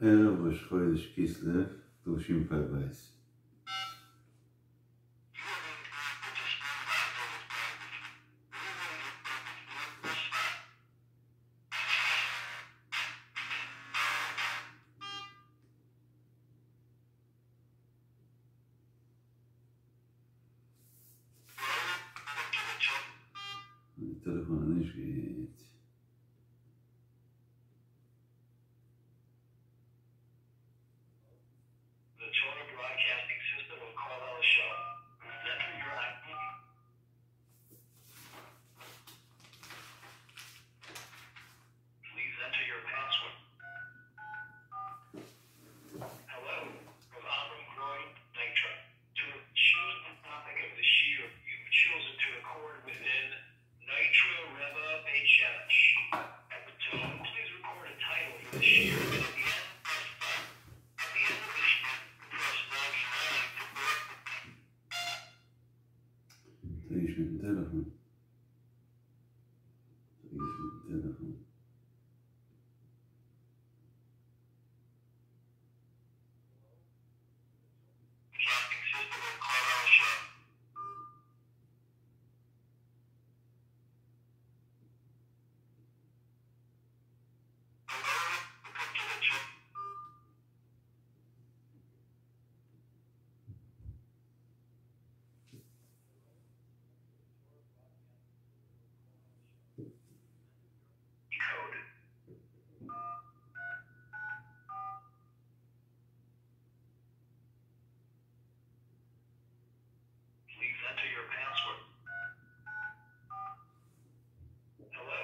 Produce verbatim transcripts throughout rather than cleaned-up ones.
ערב ראש חודש כסלו תשפ"ב. די טעלעפאן איז נישט גוט. The Torah Broadcasting System of Carlisle Show. Enter your ID. Please enter your password. Hello, from Avram Groy, Nitra. To choose the topic of the shiur you've chosen to record within Nitra Rebbe Beit Shemesh. At the tone, please record a title for the shiur and at the end, press five. At the end of the shiur, press ninety-nine to correct the טו איש מיטן טעלעפאן. טו איש מיטן טעלעפאן. Broadcasting system of Carlisle Show. Code. Please enter your password. Hello,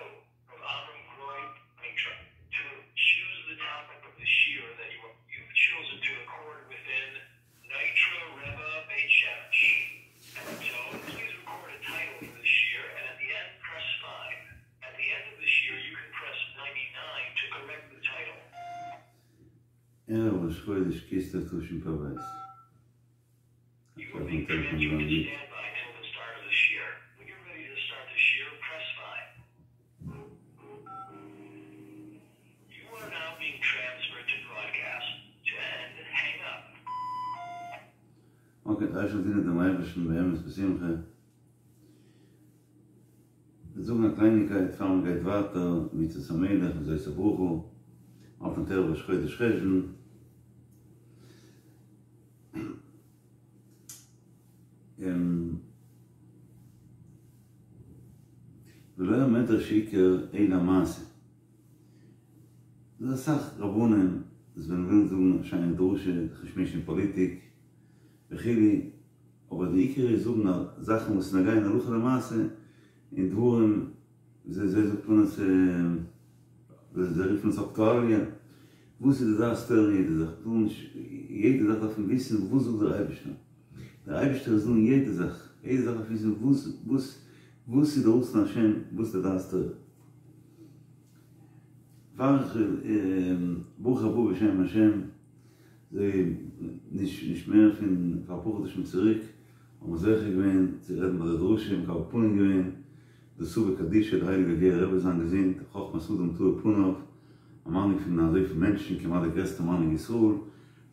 from Avram Groy, Mitra. To choose the topic of the shiur that you you've chosen to record within Nitra Rebbe Beit Shemesh. At the tone, please record a title for the shiur, and at the end, press five. At the end of the shiur, you can press ninety-nine to correct the title. ערב ראש חודש כסלו תשפ"ב. You עכשיו are being הטלפון transferred to באנגלית. standby till the start of the shiur. When you're ready to start the shiur, press five. You are now being transferred to broadcast. To end, hang up. אוקיי, דער אייבערשטער דינט דעם אייבערשטן באמת בשמחה. מיר זאגן א קלייניקייט, פאר מען גייט ווייטער, מצות המלך, וזאת הברכה, אויפן ערב ראש חודש חשון. ולא המדרש עיקר אלא מעשה. דא אסאך רבנים, וואס ווען ווילן זאגן א שיינע דרשה, זיך נישט מישן אין פאליטיק, וכו', אבער די עיקר איז זאגן זאכן וואס נוגע אין הלכה למעשה, אין דברים, זיי זאגט מען עס, זיי רופן עס אקטואליע, וואס איז די דעת תורה אין יעדע זאך, טאר נישט, יעדע זאך דארף מען וויסן וואס זאגט דער אייבערשטער, דער אייבערשטער איז דא אין יעדע זאך, יעדע זאך דארף מען וויסן וואס, וואס, וואס איז דער רצון השם, וואס איז די דעת תורה. פאר איך, ברוך הבא בשם השם, זיי נישט, נישט מער פון פאר אפאר חדשים צוריק, האבן מיר זוכה געווען צו רעדן ביי די דרשה, מקבל פנים געווען, די סבא קדישא, דער הייליגער גערער רבי זיין געזונט, חכמת אדם תאיר פניו, א מנהיג פון אזויפיל מענטשן, כמעט דער גרעסטער מנהיג ישראל,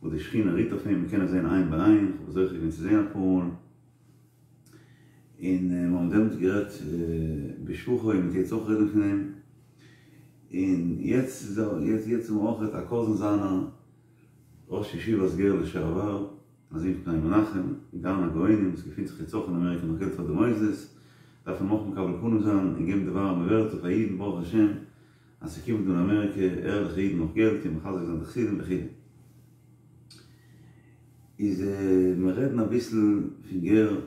וואס די שכינה רוהט אויף אים, מען קען עס זען עין בעין, איך האב זוכה געווען צו זען אפאר מאל, און מיר האבן דעמאלטס גערעדט בשבחו, און מ'וועט יעצט אויך רעדן פון אים, און יעצט איז ער, יעצט יעצט איז אויך א קאזין זיינער, ראש ישיבת גער לשעבר, א זון פון פני מנחם, גאון הגאונים, וואס געפינט זיך יעצט אויך אין אמעריקע נאך געלט פאר די מוסדות, דארף מען אויך מקבל פנים זיין און געבן די ווארעמע ווערטער פאר אידן ברוך השם אז ס'קומט דא אין אמעריקע ערליכע אידן נאך געלט און מחזק זיין די חסידים וכו'. איז מיר רעדן אביסל פון גער,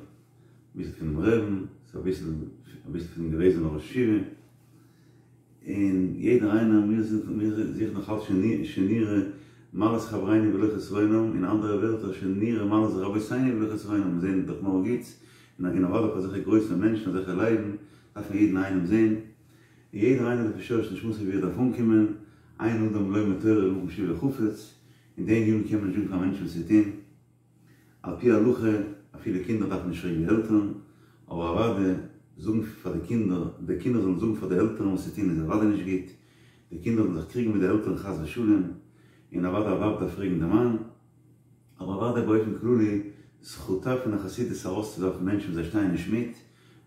אביסל פונעם רעבן, אביסל אביסל פונעם געוועזענעם ראש ישיבה, און יעדער איינער, מיר זוכן נאך אלץ שנראה מעלת חברינו ולא חסרונם, אין אנדערע ווערטער שנראה מעלת רבותינו ולא חסרונם, מיר זעען דאך נאר גוטס, און אוודאי אויף אזעלכע גרויסע מענטשן, אזעלכע לייבן, דארף מען יעדן איינעם זען, און יעדער איינער לפי שורש נשמתו ווי ער דארף אנקומען, אין אדם לומד תורה אלא במקום שלבו חפץ, אין די ענינים קען מען נישט זאגן פאר מענטשן וואס צו טון, על פי הלכה אפילו קינדער דארפן נישט פרעגן די עלטערן, אבער אוודאי זאגן פאר די קינדער, די קינדער זאלן זאגן פאר די עלטערן וואס צו טון איז אוודאי נישט גוט, די קינדער זאלן זיך קריגן מיט די עלטערן חס ושלום, און אוודאי א ווייב דארף פרעגן די מאן, אבער אוודאי באופן כללי זכותה פון א חסידות ארויסצואווארפן מענטשן וואס זיי שטייען נישט מיט,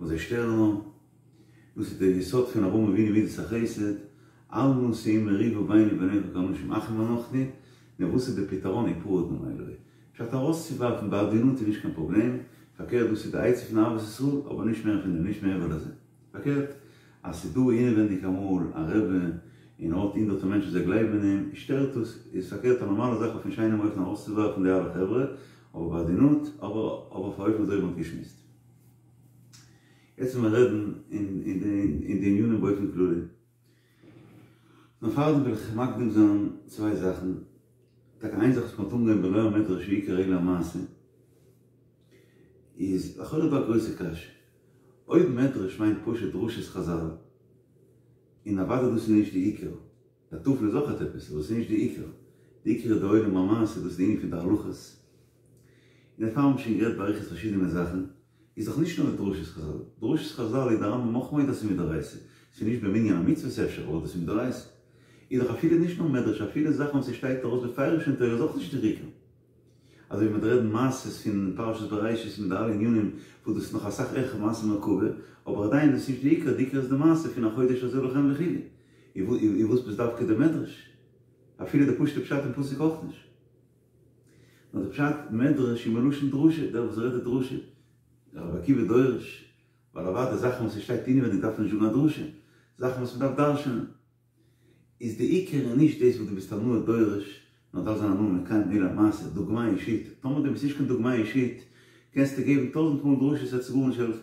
וואס זיי שטערן נאר, דאס איז דער יסוד פון אברהם אבינו מידת החסד, אל נא שאו מריבה ביני וביניך כי אנשים אחים אנחנו, נו וואס איז די פתרון הפרד נא מעלי? פשט ארויסצואווארפן בעדינות איז נישט קיין פראבלעם, פארקערט דאס איז די עצה פון אהבת ישראל, אבער נישט מער פון דעם, נישט מעבר לזה. פארקערט אז ס'איז דא אינעווענדיג אמאל א רבי און ער האט הונדערטער מענטשן זיי גלייבן אין אים, שטערט עס, איז פארקערט א נארמאלע זאך אויפן שיינעם אופן ארויסצואווארפן די אלע חברה, אבער בעדינות, אבער אויף א אופן אזוי ווי מ'האט געשמועסט. יעצט וועל מיר רעדן אין די ענינים באופן כללי. נאר פארדעם וויל איך מקדים זיין צוויי זאכן. טאקע איין זאך וואס מ'האט אנגעהויבן ולא המדרש הוא עיקר אלא המעשה, איז לכאורה דא א גרויסע קשיא. אויב מדרש מיינט פשוט דרשות חזל, און אוודאי דאס איז נישט די עיקר, די טפל איז אויכעט עפעס, אבער עס איז נישט די עיקר, די עיקר איז די עולם המעשה, דאס איז די ענין פון די הלכות, און דערפאר האבן מיר שוין גערעדט באריכות פארשידענע זאכן, איז דאך נישט נאר די דרשות חזל, דרשות חזל איז די רמב"ם אויך מודה אז ס'איז מדאורייתא, ס'איז נישט במנין המצוות אפשר, אבער דאס איז מדאורייתא. איז דאך אפילו נישט נאר מדרש, אפילו זאכן וואס ס'שטייט ארויס בפירוש אין תורה איז אויך נישט דער עיקר. אזוי ווי מ'וועט רעדן מעשות פון פרשת בראשית מיט די אלע ענינים וואס דאס איז נאך אסאך העכער מעשה מרכבה, אבער עדיין איז עס נישט די עיקר, די עיקר איז די מעשה פון החודש הזה לכם וכו'. איז וואס איז דווקא די מדרש? אפילו די פשוט'ע פשט אין פסוק אויך נישט. נאר די פשט מדרש איז מלשון דרשה, דער וואס רעדט די דרשה, רבי עקיבא דורש, ווייל אוודאי זאכן וואס עס שטייט אינעווענדיג דארף מען נישט זאגן א דרשה, זאכן וואס מ'דארף דרש'נען. איז די עיקר איז נישט דאס וואס דו ביסט א נאה דורש, נאר דארף זיין א נאה מקיים עולם המעשה, דוגמא אישית, טאמער דו ביסט נישט קיין דוגמא אישית, קענסטו געבן טויזנט מאל דרשות ס'וועט גארנישט העלפן.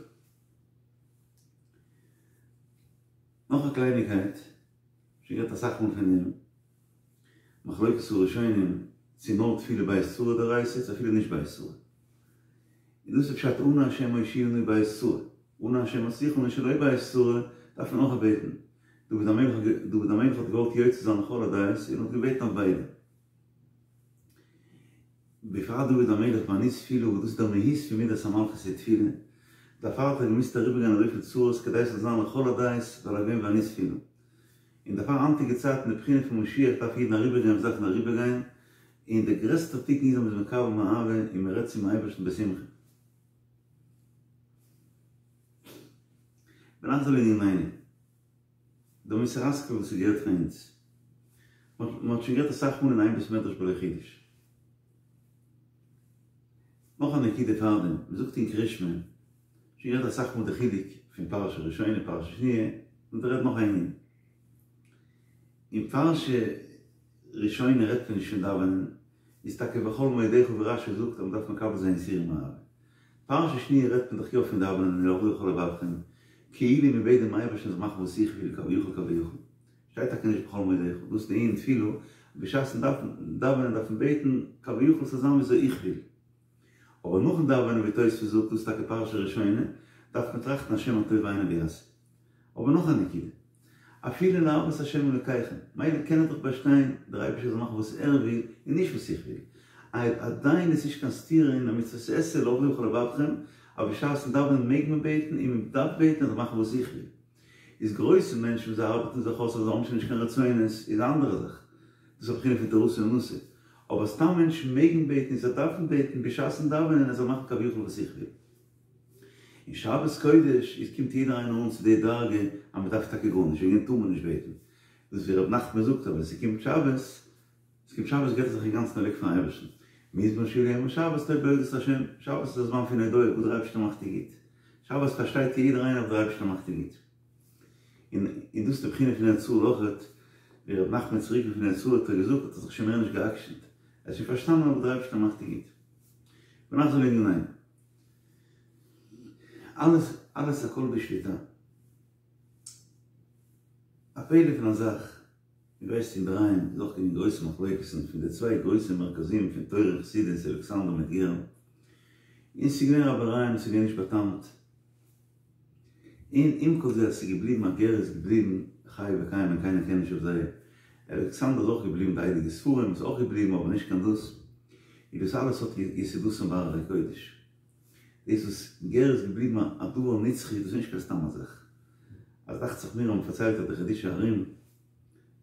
נאך א קלייניגקייט, שוין גערעדט אסאך מאל פון דעם, מחלוקת הראשונים צו נאר תפילה בעת צרה דאורייתא צו אפילו נישט בעת צרה. און דאס איז פשט אנא השם הושיעה נא בעת צרה, אנא השם הצליחה נא שלא בעת צרה, דארף מען אויך בעטן. דוד המלך דוד המלך האט געוואלט יוצא זיין לכל הדעות און האט געבעטן אויף ביידע. בפרט דוד המלך ואני תפילה וואס דאס איז דער מהות פון מידת המלכות איז תפילה, דערפאר האט ער געמוזט אריבערגיין אזויפיל צרות כדי עס זאל זיין לכל הדעות ווייל ער איז געווען ואני תפילה. און דערפאר היינטיגע צייטן די בחינה פון משיח דארף אידן אריבערגיין וואס דארפן אריבערגיין, און דער גרעסטער תיקון איז אז מ'איז מקבל מאהבה און מ'רעדט צום אייבערשטן בשמחה. ונחזור לענינינו. דער מוסר השכל וואס איז גערעדט פאר אונז. מען האט שוין גערעדט אסאך מאל אין איין בית מדרש בלא חידוש. נאך א נקודה פארדעם, מען זאגט אין קריאת שמע, שוין גערעדט אסאך מאל די חילוק פון פרשה ראשונה פרשה שניה, און דא רעדט נאך א ענין. אין פרשה ראשונה רעדט מען נישט פון דאווענען, איז טאקע בכל מאודך ווי רש"י זאגט אז מען דארף מקבל זיין יסורים מאהבה. פרשה שניה רעדט מען דאך יא פון דאווענען און ולעבדו בכל לבבכם, כאילו מען בעט דעם אייבערשטן זאל מאכן וואס איך וויל כביכול כביכול. שטייט טאקע נישט בכל מאודך, דאס איז די ענין תפילה, בשעת'ן דאווענען דארף מען בעטן כביכול ס'זאל זיין וויאזוי איך וויל. אבער נאכן דאווענען ווי תוספות זאגט דאס איז טאקע פרשה ראשונה, דארף מען טראכטן השם הטוב בעיניו יעשה. אבער נאך א נקודה, אפילו לאהבה את השם אלוקיכם, מילא קען ער דאך באשטיין דער אייבערשטער זאל מאכן וואס ער וויל און נישט וואס איך וויל, עדיין איז נישט קיין סתירה אין א מצוות עשה לעבדו בכל לבבכם, אז בשעת'ן דאווענען מעג מען בעטן און מען דארף בעטן ער זאל מאכן וואס איך וויל. איז גרויסע מענטשן וואס זיי ארבעטן זיך אויס אז זיי האבן שוין נישט קיין רצונות איז א אנדערע זאך, דאס איז א בחינה פון תורתו אומנותו, אבער סתם מענטשן מעגן בעטן און זיי דארפן בעטן בשעת'ן דאווענען ער זאל מאכן כביכול וואס איך וויל. און שבת קודש איז קומט יעדער איינער אן צו די דרגה אז מען דארף טאקע גארנישט, וועגן דעם טאר מען נישט בעטן. דאס ווי ר' נחמן זאגט אז ווען ס'קומט שבת, ס'קומט שבת געט ער זיך אינגאנצן אוועק פארן אייבערשטן. מזמור שיר ליום השבת טוב להודות להשם, שבת איז א זמן פון הודאה, וואס דער אייבערשטער מאכט איז גוט. שבת פארשטייט יעדער איינער וואס דער אייבערשטער מאכט איז גוט. און און דאס איז די בחינה פון ארץ ישראל אויכעט, ווי ר' נחמן איז צוריק פון ארץ ישראל האט ער געזאגט האט ער זיך שוין מער נישט גע'עקשנ'ט, ער האט שוין פארשטאנען וואס דער אייבערשטער מאכט איז גוט. ונחזור לענינינו. אלעס אלעס הכל בשליטה. א פלא פון א זאך, דו ווייסט אינדערהיים איז אויך געווען גרויסע מחלוקת'ן פון די צוויי גרויסע מרכזים פון תורה און חסידות אלכסנדר מיט גער, און ס'איז געווען רייבערייען ס'איז געווען נישט באטאמט, און עם כל זה אז ס'איז געבליבן אז גער איז געבליבן חי וקיים און קיינער קען נישט אויף זיי, אלכסנדר איז אויך געבליבן די הייליגע ספרים איז אויך געבליבן אבער נישט קיין דאס, און דאס אלעס האט יסודות בהררי קודש. דאס וואס גער איז געבליבן א דבר נצחי דאס איז נישט קיין סתם א זאך. אז דאכט זיך מיר האבן פארציילט אז די חידושי הרי"ם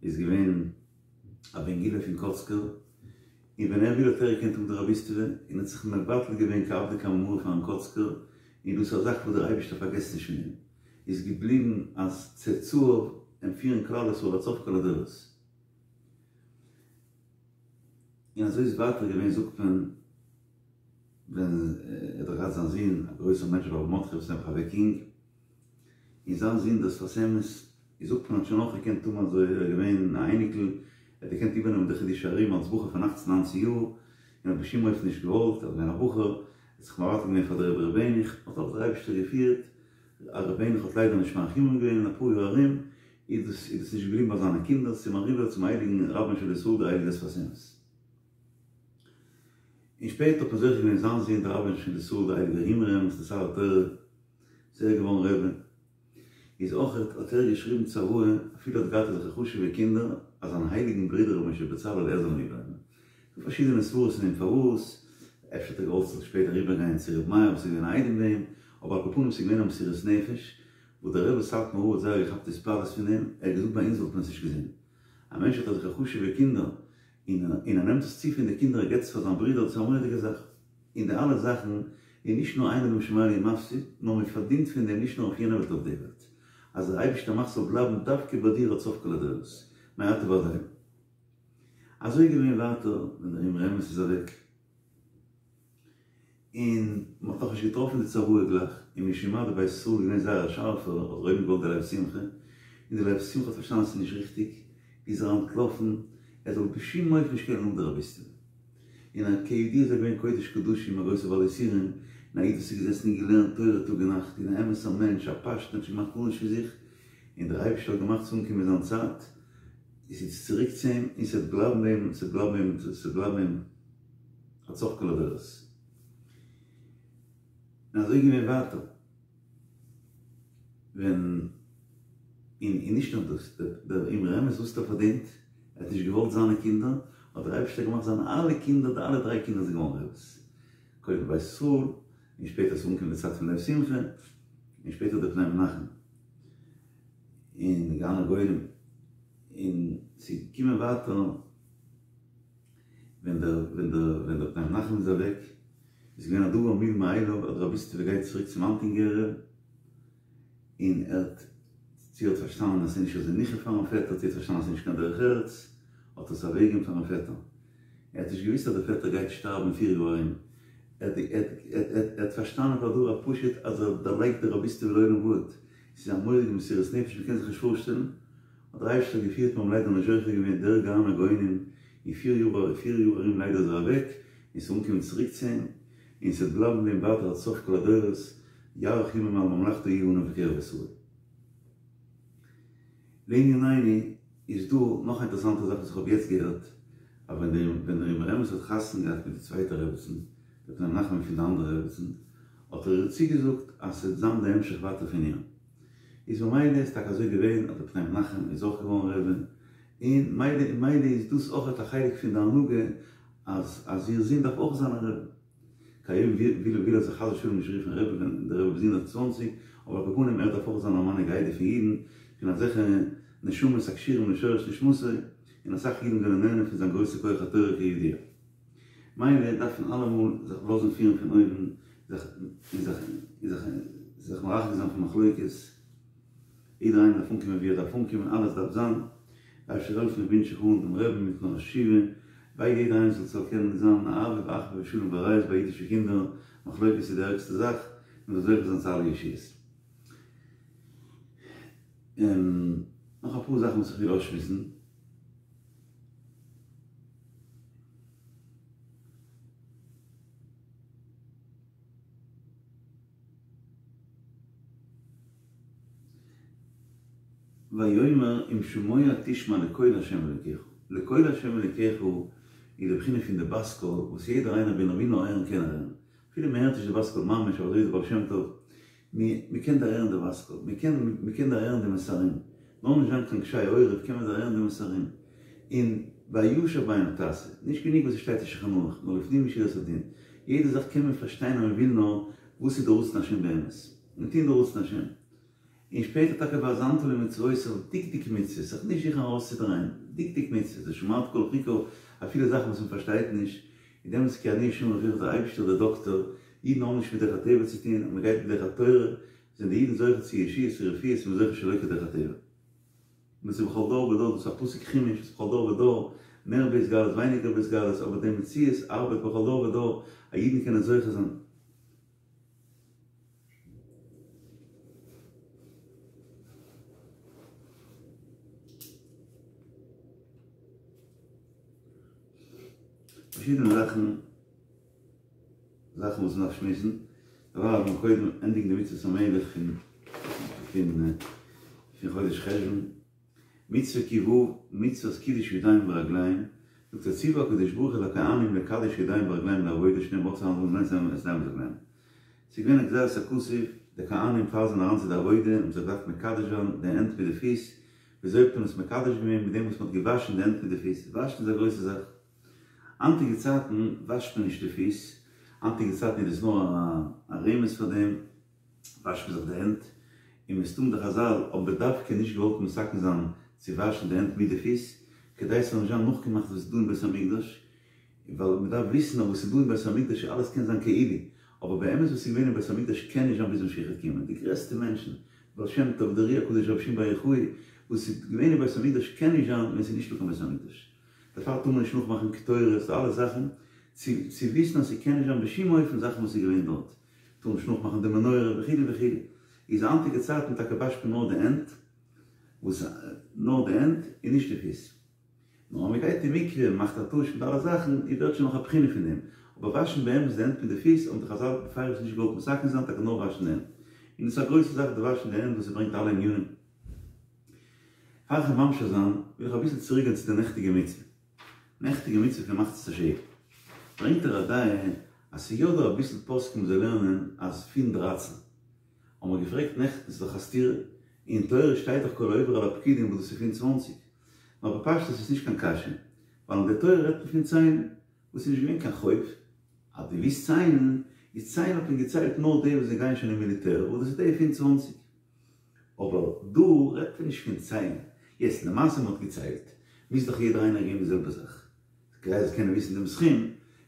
איז געווען א בן גילו פון קאצקער, און ווען ער וויל האט ער געקענט האבן די רביסטעווע, און האט זיך מבטל געווען כעבדא קמי מריה פארן קאצקער, און דאס איז א זאך וואס דער אייבערשטער פארגעסט נישט פון אים, איז געבליבן אז צאצאיו אים פירן כלל ישראל עד סוף כל הדורות. און אזוי איז ווייטער געווען זאגט מען ווען ער האט דאך געהאט זיין זון א גרויסער מענטש ר' מרדכי וואס איז נעבעך אוועק יונג, און זיין זון דער שפת אמת איז זאגט מען האט שוין אויך געקענט האבן אזוי ער איז געווען א אייניקל ער האט געקענט איבערנעמען די חידושי הרי"ם אלס בחור פון אכצן ניינצן יאר און האט בשום אופן נישט געוואלט ער איז געווען א בחור ער האט זיך מבטל געווען פאר דער רבי ר' העניך האט אויך דער אייבערשטער געפירט אז ר' העניך האט ליידער נישט מאריך ימים געווען אין אפאר יאר ארום איז דאס איז דאס נישט געבליבן ביי זיינע קינדער ס'איז אריבער צום הייליגן רבן של ישראל דער הייליגער שפת אמת. און שפעטער האט מען זוכה געווען זיין זון דער רבן של ישראל דער הייליגער אמרי אמת דער שר התורה איז ער געווארן רבי, איז אויך האט ער געשריבן צוואה אפילו ער האט געהאט אזעלכע חשובע קינדער אז זיין הייליגן ברודער רבי משה בצלאל ער זאל אים איבערנעמען. ס'דא פארשידענע סברות אין דעם פארוואס, אפשר האט ער געוואלט ס'זאל שפעטער אריבערגיין צו רבי מאיר וואס איז געווען א איידעם ביי אים, אבער על כל פנים ס'איז געווען א מסירות נפש וואס דער רבי סאטמאר רב האט זייער געכאפט התפעלות פון דעם, ער האט געזאגט ביי אונז וואלט מען עס נישט געזען. א מענטש האט אזעלכע חשובע קינדער און און ער נעמט עס צו פון די קינדער ער געבט עס פאר זיין ברודער דאס איז א מורא'דיגע זאך. און די אלע זאכן איז נישט נאר אין אדם שומע לי ומפסיד, נאר מען פארדינט פון דעם נישט נאר אויף יענע וועלט אויף די וועלט. אז דער אייבערשטער מאכט ס'זאל בלייבן דווקא ביי דיר עד סוף כל הדורות. מעתה ועד עולם. אזוי איז געווען ווייטער ווען דער אמרי אמת איז אוועק. און מען האט נאכנישט געטראפן די צוואה גלייך, און משום מה דער בית ישראל איז געווען זייער א שארפער, האט ער אויבן געוואלט די לב שמחה, און די לב שמחה האט פארשטאנען אז ס'איז נישט ריכטיג, איז ער אנטלאפן, ער זאל בשום אופן נישט קענען האבן די רביסטעווע. און א כידוע איז ער געווען קודש קדשים, א גרויסער בעל יסורים, און א איד וואס איז געזעסן און געלערנט תורה טאג און נאכט, און א אמת'ער מענטש, א פשטן, האט נישט געמאכט גארנישט פון זיך, און דער אייבערשטער האט געמאכט ס'זאל אנקומען זיין צייט, איז איצט צוריק צו אים, און ס'וועט בלייבן ביי אים, ס'וועט בלייבן ביי אים, ס'וועט בלייבן ביי אים. עד סוף כל הדורות. און אזוי געווען ווייטער. ווען, און און נישט נאר דאס, דער אמרי אמת וואס האט ער פארדינט, ער האט נישט געוואלט זיינע קינדער, האט דער אייבערשטער געמאכט זיינע אלע קינדער, די אלע דריי קינדער זענען געווארן רעבעס. קודם בית ישראל, און שפעטער איז אנגעקומען די צייט פון לב שמחה, און שפעטער דער פני מנחם. און גאון הגאונים. און ס'איז געקומען ווייטער. ווען דער ווען דער ווען דער פני מנחם איז אוועק איז געווען א דבר מובן מאליו אז די רביסטעווע גייט צוריק צום אלטן גערער און ער האט צו ער האט פארשטאנען אז ס'איז נישט אזוי ניחא פארן פעטער צו ער האט פארשטאנען אז ס'איז נישט קיין דרך ארץ האט ער עס אוועקגעגעבן פארן פעטער ער האט נישט געוויסט אז דער פעטער גייט שטארבן פיר יאר ארום ער האט ער האט פארשטאנען פאר דבר הפשוט אז ער דערלייגט די רביסטעווע לעולם ועד ס'איז א מורא'דיגע מסירות נפש מ'קען זיך נישט פארשטעלן האט דער אייבערשטער געפירט מיר האבן ליידער נישט זוכה געווען דער גאון הגאונים אין פיר יאר פיר יאר ארום ליידער איז ער אוועק און ס'איז אנגעקומען צוריק צו אים און ס'וועט בלייבן ביי אים ווייטער עד סוף כל הדורות יאריך ימים על ממלכתו יהיו עניו בקרב ישראל. לענינינו איז דא נאך א אינטערעסאנטע זאך וואס איך האב יעצט געהערט אז ווען דער ווען דער אמרי אמת האט חתונה געהאט מיט די צווייטע רעבעצן דער פני מנחם פון די אנדערע רעבעצן האט ער איר צוגעזאגט אז ס'וועט זיין די המשך ווייטער פון איר. איז ממילא איז טאקע אזוי געווען אז דער פני מנחם איז אויך געווארן רבי, און מילא און מילא איז דאס אויכעט א חלק פון די הנהגה אז אז איר זון דארף אויך זיין א רבי. כהיום וויל וויל ער זיך חס ושלום נישט רופן רבי ווען דער רבי איז הונדערט צוואַנציק, אבער על כל פנים ער דארף אויך זיין א מנהיג העדה פון אידן, פון אזעלכע נשמות הקשורים לשורש נשמתו, און אסאך אידן זענען נהנה פון זיין גרויסע כח התורה כידוע. מילא דארף מען אלעמאל זיך לאזן פירן פון אויבן, זיך און זיך און זיך זיך מרחק זיין פון מחלוקת, יעדער איינער דארף אנקומען ווי ער דארף אנקומען, אלעס דארף זיין, דער אייבערשטער זאל העלפן איך ווינטש אייך אן דעם רעבן מיטן ראש ישיבה, ביי יעדער איינער זאל זאל קענען זיין אהבה ואחווה ושלום ורעות ביי אידישע קינדער, מחלוקת איז די ערגסטע זאך, מען זאל זוכה זיין צו אלע ישועות. און נאך אפאר זאכן וואס איך וויל אויסשמועסן. ויאמר אם שמוע תשמע לקול ה' אלוקיך, לקול ה' אלוקיך איז די בחינה פון די בת קול וואס יעדער איינער ווען ער וויל נאר הערן קען ער הערן, אפילו מען הערט נישט די בת קול ממש אבער אזוי איז די בעל שם טוב, מען קען דערהערן די בת קול, מען קען מען קען דערהערן די מסרים, נאר נישט זיין קיין קשי עורף קען מען דערהערן די מסרים, און והישר בעיניו תעשה, נישט גענוג וואס עס שטייט אין שולחן ערוך, נאר לפנים משורת הדין, יעדע זאך קען מען פארשטיין אז מען וויל נאר וואס איז די רצון השם באמת, און טון די רצון השם. און שפעטער טאקע והאזנת למצוותיו, דקדוק מצוות, זיך נישט זוכן ארויסצודרייען, דקדוק מצוות, ושמרת כל חוקיו, אפילו זאכן וואס מען פארשטייט נישט, איז דעמאלטס כי אני ה' רופאך דער אייבערשטער דער דאקטער, אידן האבן נישט מיט דרך הטבע צו טון, אז מען גייט מיט דרך התורה, זענען די אידן זוכה צו ישועות און רפואות און מען איז זוכה שלא כדרך הטבע. און עס איז בכל דור ודור, דאס איז א פסוק חומש, עס איז בכל דור ודור, מער בהתגלות ווייניגער בהתגלות, אבער די מציאות ארבעט בכל דור ודור, אז אידן קענען זוכה זיין. פארשידענע זאכן, זאכן וואס מ'דארף שמועסן, דערווייל לאמיר קודם ענדיגן די מצוות המלך פון פון פון חודש חשוון, מצוה ק ו, מצוות קידוש ידיים ורגליים, זאגט ער ציוה הקדוש ברוך הוא לכהנים לקדש ידיים ורגליים לעבודה שנאמר רחצו את ידיהם ואת רגליהם. ס'איז געווען א גזירת הכתוב, די כהנים פאר זיי זענען אריין צו די עבודה האבן זיך געדארפט מקדש זיין די הענט מיט די פיס, וויאזוי האט מען עס מקדש געווען? מיט דעם וואס מ'האט געוואשן די הענט מיט די פיס, וואשן איז א גרויסע זאך, היינטיגע צייטן וואשט מען נישט די פיס, היינטיגע צייטן איז דאס נאר א רמז פאר דעם, וואשט מען זיך די הענט, און מסתם די חזל האבן בדווקא נישט געוואלט מתקן זיין צו וואשן די הענט מיט די פיס, כדי ס'זאל נישט זיין נאכגעמאכט וואס איז דא אין בית המקדש, ווייל מען דארף וויסן אז וואס איז דא אין בית המקדש אלעס קען זיין כאילו, אבער באמת וואס איז געווען אין בית המקדש קען נישט זיין ביז משיח וועט קומען, די גרעסטע מענטשן, בעל שם טוב, דער אר"י הקדוש, רבי שמעון בר יוחאי, וואס איז געווען אין בית המקדש קען נישט זיין ווען ס'איז נישטא קיין בית המקדש. דערפאר טאר מען נישט נאכמאכן קטורת, די אלע זאכן, צו צו וויסן אז ס'קען נישט זיין בשום אופן זאכן וואס איז געווען דארט, טאר נישט נאכמאכן די מנורה וכו' וכו', איז היינטיגע צייטן טאקע וואשט מען נאר די הענט, וואס נאר די הענט און נישט די פיס. נאר אז מ'גייט אין מקווה און מ'מאכט א טוש מיט אלע זאכן, איז ווערט שוין נאך א בחינה פון דעם. אבער וואשן באמת די הענט מיט די פיס האבן די חזל בפירוש נישט געוואלט מתקן זיין, טאקע נאר וואשן די הענט. און עס איז א גרויסע זאך די וואשן די הענט וואס עס ברענגט אלע ענינים. פאר איך וועל ממשיך זיין, וויל איך אביסל צוריק גיין צו די נעכטיגע מצוה. נעכטיגע מצוה פון מחצית השקל. ברענגט דער רד"ע אז ס'איז יא דא אביסל פוסקים וואס זיי לערנען אז פון דרייצן. האבן מיר געפרעגט נעכטן, ס'איז דאך א סתירה, אין תורה שטייט דאך כל העובר על הפקודים וואס דאס איז פון צוואנציג. נאר בפשטות איז נישט קיין קשיא, ווייל אין די תורה רעדט מען פון ציילן, וואס איז נישט געווען קיין חוב, אז דו ווילסט ציילן, איז ציילן האט מען געציילט נאר די וואס זיי גייען שוין אין מיליטער, וואס דאס איז די פון צוואנציג. אבער דא רעדט מען נישט פון ציילן, יעצט למעשה מען האט געציילט, מוז דאך יעדער איינער געבן די זעלבע זאך, כדי זיי קענען וויסן דעם סכום,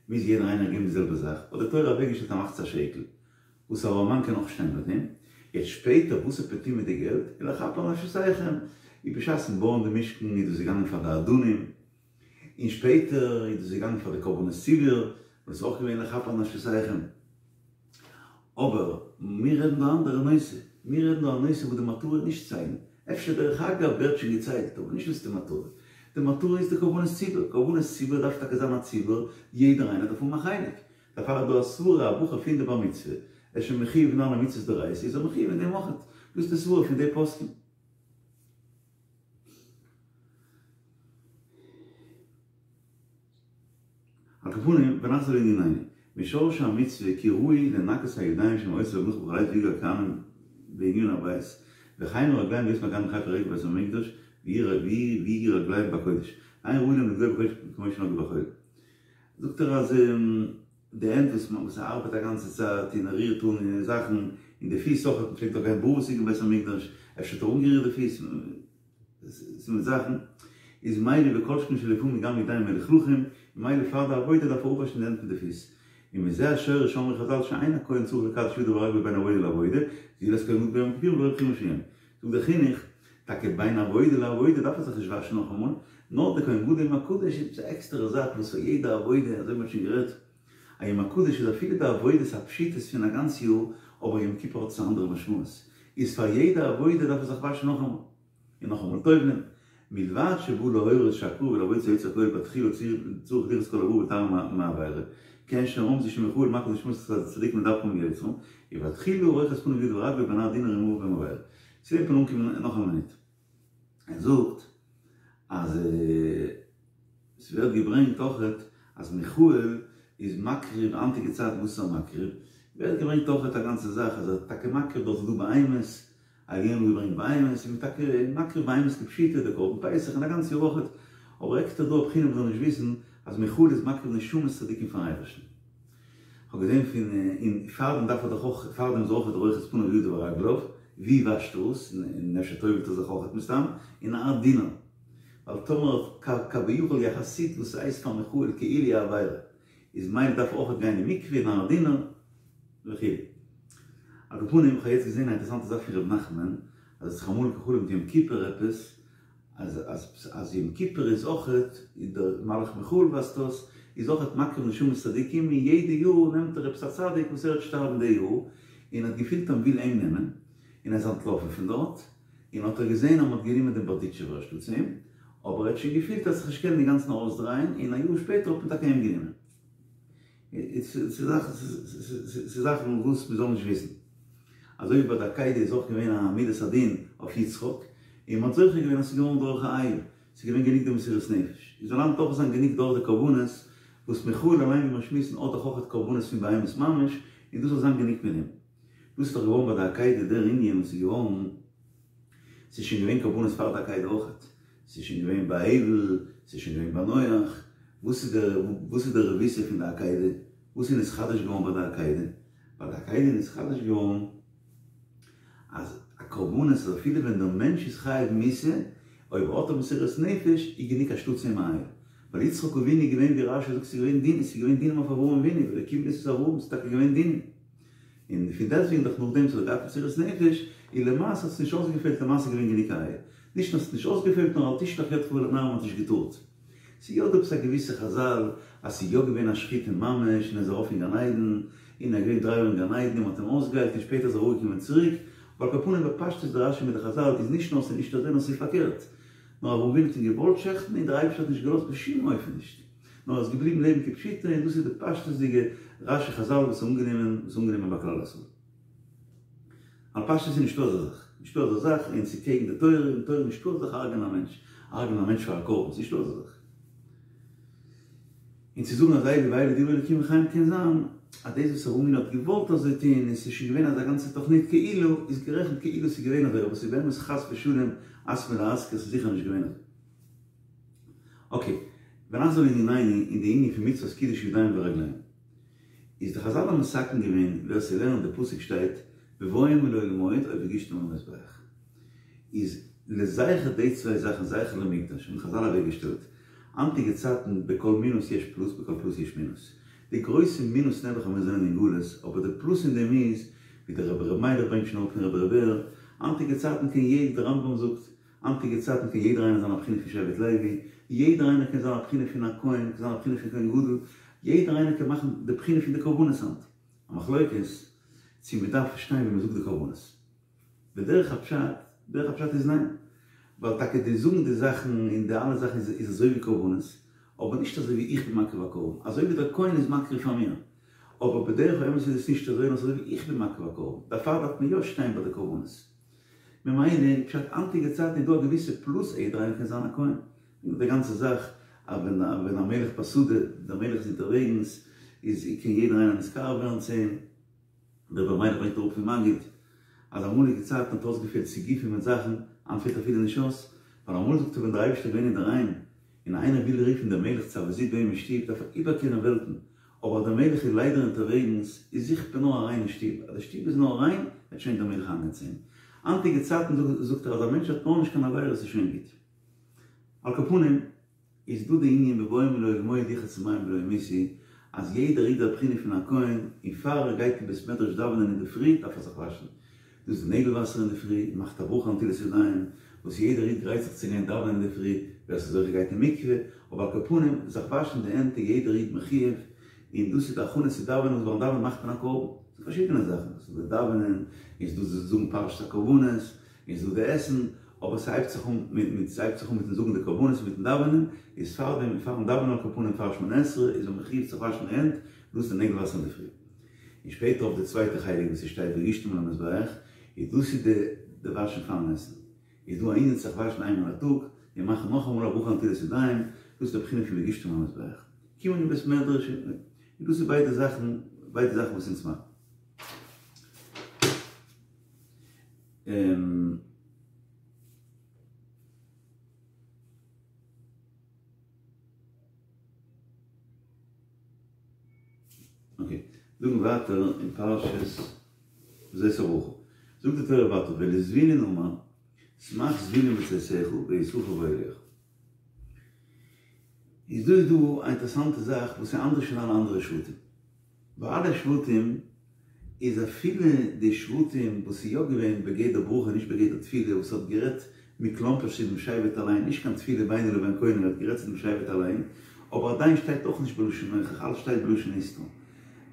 מוז יעדער איינער געבן די זעלבע זאך, האט די תורה אוועקגעשטעלט א מחצית השקל, וואס א ארעמאן קען אויך שטיין ביי דעם, יעצט שפעטער וואס האט מען געטון מיט די געלט, ולכפר על נפשותיכם, איז בשעת'ן בויען די משכן איז דאס געגאנגען פאר די אדנים, און שפעטער איז דאס געגאנגען פאר די קרבנות ציבור, וואס איז אויך געווען לכפר על נפשותיכם. אבער מיר רעדן דא א אנדערע נושא, מיר רעדן דא א נושא וואס די מטרה איז נישט ציילן, אפשר דרך אגב ווערט שוין געציילט, אבער נישט דאס איז די מטרה, די מטרה איז די קרבנות ציבור, קרבנות ציבור דארף טאקע זיין א ציבור, יעדער איינער דארף האבן א חלק, דערפאר איז דא א סברה א בחור פון די בר מצוה, ער איז שוין מחיוב אין אלע מצוות דאורייתא איז ער מחיוב אין דעם אויכעט, דאס איז די סברה פון די פוסקים. על כל פנים, ונחזור לענינינו, משורש המצוה כי ראוי לנקות הידיים שהם עושים במלאכה בכל עת ויגעו הכהנים בענין הבית, וכן הרגליים להיות הכהנים חפי רגל בבית המקדש ויהיו רגליהם בקודש, אין ראוי להם לנגוע בקודש כמו שנגעו בחול. זאגט ער אז די הענט וואס וואס ער ארבעט א גאנצע צייט און ער רירט אן זאכן, און די פיס אויך, מען פלעגט דאך גיין בארוועס אין בית המקדש, אפשר האט ער אנגערירט די פיס, ס'איז מיט זאכן, איז מילא וכל שכן שלפעמים גם ידיים מלוכלכים, ממילא פאר די עבודה דארף ער אפוואשן די הענט מיט די פיס. ומזה השורש אמרו חזל שאין הכהן צריך לקדש ידיו ורגליו בין עבודה לעבודה, זולת כהן גדול ביום הכיפורים ולא בחיוב מסוים. זאגט דער חינוך, טאקע בין עבודה לעבודה דארף ער זיך נישט וואשן נאכאמאל, נאר די כהן גדול יום הקדוש איז עפעס א עקסטערע זאך וואס פאר יעדע עבודה, אזוי ווי מ'האט שוין גערעדט, א יום הקדוש איז אפילו די עבודות הפשוטות פון א גאנץ יאר, אבער יום כיפור האט עס א אנדערע משמעות, איז פאר יעדע עבודה דארף ער זיך וואשן נאכאמאל, און נאכאמאל טובל'ען, מלבד שבא להורות שהקרבה לעבודת היוצר הכל בתחילה צריך לרחוץ כל אבריו ולטהרם מעבירה, כעין שרמזו שמיכאל מקריב נשמות הצדיקים לדבקם ביוצרם, ובתחילה רוחץ פניו וידיו ורגליו בנהר דינור אם עבר בהם עבירה. צו דעם קען אנקומען נאך א מינוט. ער זאגט אז ס'ווערט געברענגט אויכעט אז מיכאל איז מקריב היינטיגע צייטן וואס איז ער מקריב? ווערט געברענגט אויכעט א גאנצע זאך אז ער איז טאקע מקריב דארט איז דא בהמות, ער האט געברענגט בהמות, און מ'איז טאקע מקריב בהמות כפשוטו, די קרבן פסח און א גאנץ יאר אויכעט, אבער עקסטער דא א בחינה מ'זאל נישט וויסן אז מיכאל איז מקריב נשמות צדיקים פארן אייבערשטן. כ'האב געזען פון און פארדעם דארף ער דאך אויך פארדעם איז אויכעט רוחץ פניו וידיו ורגליו, ווי וואשט ער עס, און אפשר טובל'ט ער זיך אויכעט מסתם, אין א דינר. ווייל טאמער כביכול יחסית וואס ס'הייסט פאר מיכאל כאילו א עבירה, איז מילא דארף ער אויכעט גיין אין מקווה אין נהר דינור וכו'. על כל פנים, כ'האב יעצט געזען א אינטערעסאנטע זאך פון ר' נחמן, אז ער האט זיך אמאל גע'חלומ'ט יום כיפור עפעס, אז אז אז יום כיפור איז אויכעט, דער מלאך מיכאל ווייזט אויס, איז אויכעט מקריב נשמות צדיקים, און יעדע יאר נעמט ער עפעס א צדיק וואס ער וועט שטארבן די יאר, און האט געפילט אז מ'וויל אים נעמען, און ער איז אנטלאפן פון דארט, און האט ער געזען אז מ'האט גענומען דעם בארדיטשובער אנשטאטס אים, אבער ער האט שוין געפילט אז זיך נישט קענען אינגאנצן ארויסדרייען, און א יאר שפעטער האט מען טאקע אים גענומען. ס'איז זאכן וואס מ'זאל נישט וויסן. אזוי ווי ביי די עקידה איז אויך געווען א מידת הדין אויף יצחק, און מ'האט זוכה געווען אז ס'איז געווארן דורך א איל, ס'איז געווען גענוג די מסירות נפש. איז זאל היינט אויך זיין גענוג דורך די קרבנות, וואס מיכאל אליין ווי מיר שמועסן האט דאך אויך קרבנות פון בהמות ממש, און דאס זאל זיין גענוג מיט דעם. דאס איז דאך געווארן ביי די עקידה דער ענין וואס איז געווארן, ס'איז שוין געווען קרבנות פאר די עקידה אויכעט, ס'איז שוין געווען ביי הבל, ס'איז שוין געווען ביי נח, וואס איז דער וואס איז דער רבותא פון די עקידה? וואס איז נתחדש געווארן ביי די עקידה? ביי די עקידה איז נתחדש געווארן אז א קרבנות אז אפילו ווען דער מענטש איז חייב מיתה, אויב האט ער מסירות נפש איז גענוג אנשטאטס אים א איל. ווייל יצחק אבינו איז געווען ווי רשי זאגט ס'איז געווען דינים, ס'איז געווען דינים אויף אברהם אבינו, והאלקים נסה את אברהם, ס'איז טאקע געווען דינים. און פון דעסטוועגן דאך נאכדעם וואס ער האט געהאט מסירות נפש, איז למעשה האט עס נישט אויסגעפעלט למעשה איז געווען גענוג א איל. נישט נאר ס'האט נישט אויסגעפעלט נאר אל תשלח ידך אל הנער מ'האט נישט געטארט. ס'איז יא דא עפעס א געוויסע חזל אז ס'איז יא געווען א שחיטה ממש און ער איז ארויף אין גן עדן און ער איז געווען דריי יאר אין גן עדן און מ'האט אים אויסגעהיילט און שפעטער איז ער אראפגעקומען צוריק, אבער על כל פנים בפשטות די רשי מיט די חזל איז נישט נאר ס'איז נישט אזוי נאר ס'איז פארקערט. נאר אברהם אבינו האט אים געוואלט שעכטן און דער אייבערשטער האט נישט געלאזט בשום אופן נישט. נאר ער איז געבליבן לעבן כפשוטו און דאס איז די פשטות'דיגע רשי חזל וואס איז אנגענומען וואס איז אנגענומען ביי כלל ישראל. על פשטות איז נישטא אזא זאך, נישטא אזא זאך און ס'איז קעגן די תורה, אין תורה נישטא אזא זאך הרג'ענען א מענטש, הרג'ענען א מענטש פאר א קרבן, ס'נישטא אזא זאך. און צו זאגן אז אלו ואלו דברי אלקים חיים קען זיין אז דאס וואס אברהם אבינו האט געוואלט אזוי טון און ס'איז שוין געווען אזא גאנצע תוכנית כאילו איז גערעכנט כאילו ס'איז געווען אזוי אבער ס'איז באמת חס ושלום הס מלהזכיר ס'איז זיכער נישט געווען אזוי. אקעי, ונחזור לענינינו אין די ענין פון מצוות קידוש ידיים ורגליים. איז די חזל האבן מתקן געווען ווער ס'לערנט די פסוק שטייט בבואם אל אוהל מועד או בגישתם אל המזבח. איז לזכר די צוויי זאכן זכר למקדש האבן חזל אוועק געשטעלט היינטיגע צייטן בכל מינוס יש פלוס בכל פלוס יש מינוס. די גרויסע מינוס נעבעך אז מיר זענען אין גלות אבער די פלוס אין דעם איז ווי דער רבי ר' מיילעך ברענגט שוין אראפ פון רבי ר' בער היינטיגע צייטן קען יעדער דער רמב"ם זאגט היינטיגע צייטן קען יעדער איינער זיין א בחינה פון שבט לוי, יעדער איינער קען זיין א בחינה פון א כהן, קען זיין א בחינה פון כהן גדול, יעדער איינער קען מאכן די בחינה פון די קרבנות היינט. א מחלוקת צו מען דארף שטיין ווען מען זאגט די קרבנות. בדרך הפשט, דרך הפשט איז ניין. ווייל טאקע די זאגן די זאכן און די אלע זאכן איז אזוי ווי קרבנות, אבער נישט אזוי ווי איך בין מקריב א קרבן, אזוי ווי דער כהן איז מקריב פאר מיר. אבער בדרך האמת איז עס נישט אזוי, נאר ס'איז אזוי ווי איך בין מקריב א קרבן. דערפאר דארף מען יא שטיין ביי די קרבנות. ממילא פשט היינטיגע צייטן איז דא א געוויסע פלוס יעדער איינער קען זיין א כהן. די גאנצע זאך אז ווען ווען המלך בשדה דער מלך איז אונטערוועגנס איז קען יעדער איינער נתקרב ווערן צו אים. דער רבי ר' מיילעך ברענגט אראפ פון מגיד אז אמאליגע צייטן האט אויסגעפעלט סיגופים מיט זאכן, היינט פעלט אפילו נישט אויס, ווייל אמאל זאגט ער ווען דער אייבערשטער איז געווען אינדערהיים און איינער וויל רופן דעם מלך צו א וויזיט ביי אים אין שטוב דארף ער איבערקערן וועלטן, אבער אז דער מלך איז ליידער אונטערוועגנס, איז זוכט מען נאר א ריינע שטוב, אז די שטוב איז נאר ריין, וועט שוין דער מלך אריינגיין צו אים. היינטיגע צייטן זאגט ער אז א מענטש האט נאר נישט קיין עבירות איז שוין גוט. על כל פנים, איז דא די ענין בבואם אל אוהל מועד ירחצו מים ולא ימותו, אז יעדער איד איז א בחינה פון א כהן, און פאר ער גייט אין בית מדרש דאווענען אינדערפרי דארף ער זיך וואשן. דאס איז די נעגל וואסער אינדערפרי, און מאכט א ברכה על נטילת ידיים, וואס יעדער איד גרייט זיך צו גיין דאווענען אינדערפרי, ווער ס'איז זוכה גייט אין מקווה, אבער על כל פנים, זיך וואשן די הענט איז יעדער איד מחויב, און דאס איז די הכנה צו דאווענען, וואס ביים דאווענען מאכט מען א קרבן, ס'איז פארשידענע זאכן, ס'איז דא די דאווענען, און ס'איז דא די זאגן פרשת הקרבנות, און ס'איז דא די עסן, אבער ס'הייבט זיך אן מיט מיט ס'הייבט זיך אן מיטן זאגן די קרבנות און מיטן דאווענען, איז פארדעם פארן דאווענען על כל פנים פאר שמונה עשרה איז מען מחויב צו וואשן די הענט, דאס איז די נעגל וואסער אינדערפרי. און שפעטער אויף די צווייטע חלק וואס ס'שטייט והגשתם אל המזבח, איז דאס איז די די וואשן פארן עסן, איז דא א ענין זיך וואשן איינמאל א טאג, און מאכן נאכאמאל א ברכה על נטילת ידיים, דאס איז די בחינה פון והגשתם אל המזבח. קומען אין בית מדרש און דאס איז ביידע זאכן, ביידע זאכן וואס אונז מאכן. אקעי, זאגן ווייטער אין פרשת זאת הברכה. זאגט די תורה ווייטער ולזבולון אמר שמח זבולון בצאתך ויששכר באהליך. איז דא איז דא א אינטערעסאנטע זאך וואס איז אנדערש פון אלע אנדערע שבטים. ביי אלע שבטים איז אפילו די שבטים וואס איז יא געווען בגדר ברכה נישט בגדר תפילה וואס האט גערעדט מכלומרשט צו דעם שבט אליין נישט קיין תפילה בינו לבין קונו ער האט גערעדט צו דעם שבט אליין אבער עדיין שטייט אויך נישט בלשון נוכח אלעס שטייט בלשון נסתר.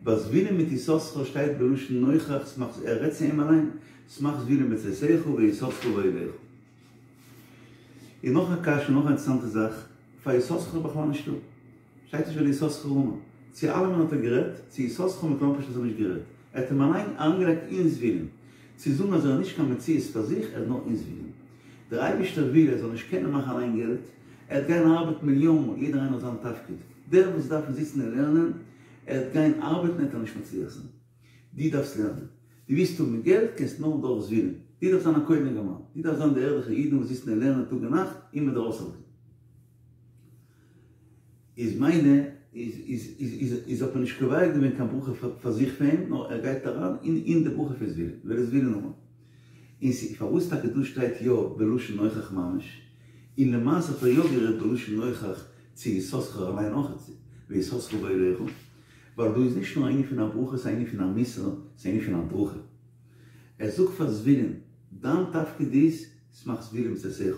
ביי זבולון מיט יששכר שטייט בלשון נוכח שמח ער רעדט צו אים אליין שמח זבולון בצאתך ויששכר באהליך. און נאך א קשיא נאך א אינטערעסאנטע זאך פאר יששכר איז בכלל נישטא. שטייט נישט וליששכר אמר. צו אלעמען האט ער גערעדט, צו יששכר מכלומרשט האט ער נישט גערעדט. ער האט אים אליין אריינגעלייגט אין זבולון. צו זאגן אז ער איז נישט קיין מציאות פאר זיך, ער איז נאר אין זבולון. דער אייבערשטער וויל ער זאל נישט קענען מאכן אליין געלט, ער וועט גיין ארבעטן מיליאן מאל, יעדער איינער האט זיין תפקיד. דער וואס דארף זיצן און לערנען, ער וועט גיין ארבעטן עט ער נישט מצליח זיין. דו דארפסט לערנען. דו ווילסט האבן געלט קענסט נאר דורך זבולון. דו דארפסט זיין א כולל אינגערמאן. דו דארפסט זיין די ערליכע אידן וואס זיצן און לערנען טאג און נאכט און מ'וועט דיר אויסהאלטן. איז מיינע איז איז איז איז איז האט מען נישט קובע געווען קיין ברכה פאר זיך פאר אים נאר ער גייט אריין אין אין די ברכה פון זבולון ולזבולון אמר און ס'איז פארוואס טאקע דא שטייט יא בלשון נוכח ממש און למעשה האט ער יא גערעדט בלשון נוכח צו יששכר אליין אויך ויששכר באהליך ווייל דא איז נישט נאר א ענין פון א ברכה ס'איז א ענין פון א מוסר ס'איז א ענין פון הדרכה ער זאגט פאר זבולון דיין תפקיד איז שמח זבולון בצאתך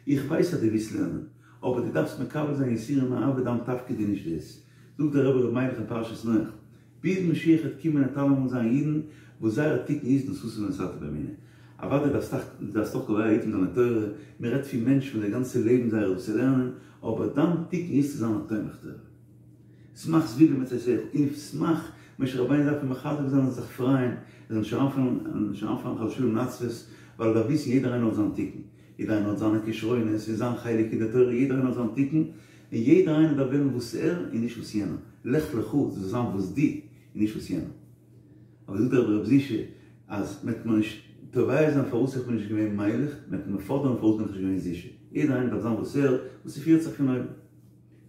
איך ווייס אז דו ווילסט לערנען אבער דו דארפסט מקבל זיין יסורים מאהבה דיין תפקיד איז נישט דאס. זאגט דער רבי ר' מיילעך אין פרשת נח, ביז משיח העט קומען העט אלעמאל זיין אידן וואס זייער תיקון איז נשאת ונתת באמונה. אוודאי דארפסט דארפסט אויך קובע עתים זיין לתורה, מען רעדט פון מענטשן וואס די גאנצע לעבן זייער איז דאס צו לערנען, אבער דיין תיקון איז צו זיין א תומך תורה. שמח זבולון בצאתך, און שמח, משה רבינו דארף אים מחזק זיין און זיך פרייען, ער זאל נישט אריינפאלן חס ושלום אין עצבות, ווייל ער דארף וויסן יעדער איינער האט זיין תיקון. יעדער איינער האט זיינע כשרונות און זיין חלק אין די תורה, יעדער איינער האט זיין תיקון, און יעדער איינער דארף וועלן וואס ער און נישט וואס יענער, לך לך זאל זיין וואס דו און נישט וואס יענער. אבער זאגט דער רבי ר' זישע אז מען וועט מיר נישט תובע זיין פארוואס איך בין נישט געווען מיילעך, מען וועט מיר פאדערן פארוואס בין איך נישט געווען זישע, יעדער איינער דארף זיין וואס ער, וואס ס'פירט זיך פון אויבן.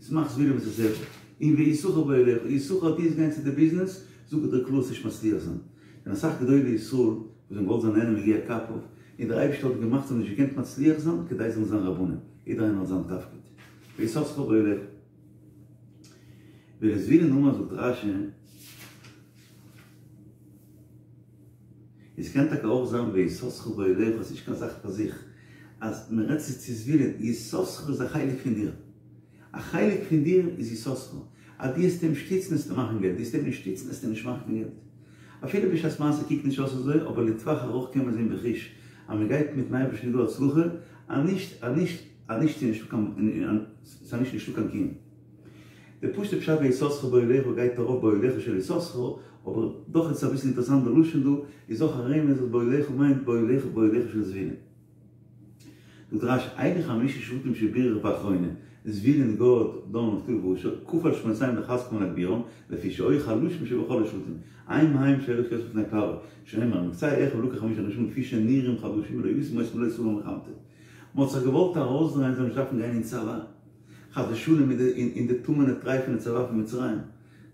שמח זבולון בצאתך, און ויששכר באהליך, יששכר דו וועסט גיין צו די ביזנעס, זאג איך דיר קלאר וועסט נישט מצליח זיין, און אסאך גדולי ישראל וואס האבן געוואלט זיין נהנה מיגיע כפיו, און דער אייבערשטער האט געמאכט זיי האבן נישט געקענט מצליח זיין כדי זיי זאלן זיין רבנים, יעדער איינער האט זיין תפקיד, ויששכר באהליך. ולזבולון אמר זאגט רש"י, עס קען טאקע אויך זיין ויששכר באהליך איז נישט קיין זאך פאר זיך, אז מען רעדט צו צו זבולון, יששכר איז א חלק פון דיר, א חלק פון דיר איז יששכר, אז דו העסט אים שטיצן העסטו מאכן געלט, דו העסט אים נישט שטיצן העסטו נישט מאכן קיין געלט. אפילו בשעת מעשה קוקט נישט אויס אזוי, אבער לטווח ארוך קען מען זען בחוש אז מען גייט מיטן אייבערשטן איז דא הצלחה, אז נישט אז נישט אז נישט איז נישטא קיין ס'איז נישט נישטא קיין קיום. די פשוט'ע פשט ויששכר באהליך גייט ארויף באהליך של יששכר, אבער דאך איז עס אביסל אינטערעסאנט די לשון דא, איז אויך א רמז אז באהליך מיינט באהליך באהליך של זבולון. זאגט רש"י, אלו חמשה שבטים שבירך באחרונה, זבולון גד דן נפתלי ואשר, כפל שמותיהם לחזקם ולהגבירם, לפי שהיו חלשים שבכל השבטים, הם הם שהוליך יוסף לפני פרעה, שנאמר מקצה אחיו לקח חמשה אנשים לפי שנראים חלשים ולא ישים אותם לא תבוא מלחמתו. מ'האט זיך געוואלט ארויסדרייען זאל נישט דארפן גיין אין צבא. חס ושלום אין די טמא'נע טרייפענע צבא פון מצרים,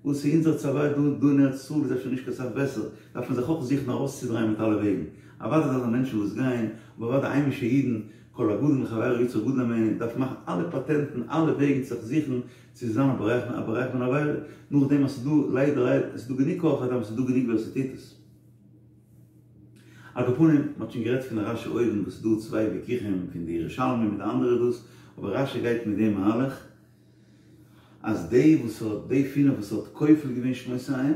וואס איז אונזער צבא דא דא אין ארץ ישראל איז אפשר נישט קיין סך בעסער, דארף מען זיך אויך זוכן ארויסצודרייען מיט אלע וועגן, אוודאי זיינען מענטשן וואס גייען, אבער אוודאי היימישע אידן, כל הגדול מחבירו יצרו גדול הימנו, דארף מאכן אלע פאטענטן אלע וועגן צו זיך זוכן צו זיין א בורח א בורח מן העבירה, נאכדעם אז ס'איז דא ליידער ליידער עס איז דא גענוג כח אדם עס איז דא גענוג ווער ס'טוט עס. על כל פנים, מ'האט שוין גערעדט פון רש"י אויבן וואס ס'איז דא צוויי וויכוחים פון די ירושלמי מיט די אנדערע דאס, אבער רש"י גייט מיט דעם מהלך אז די וואס האט די פינף וואס האט כופל געווען שמותיהם,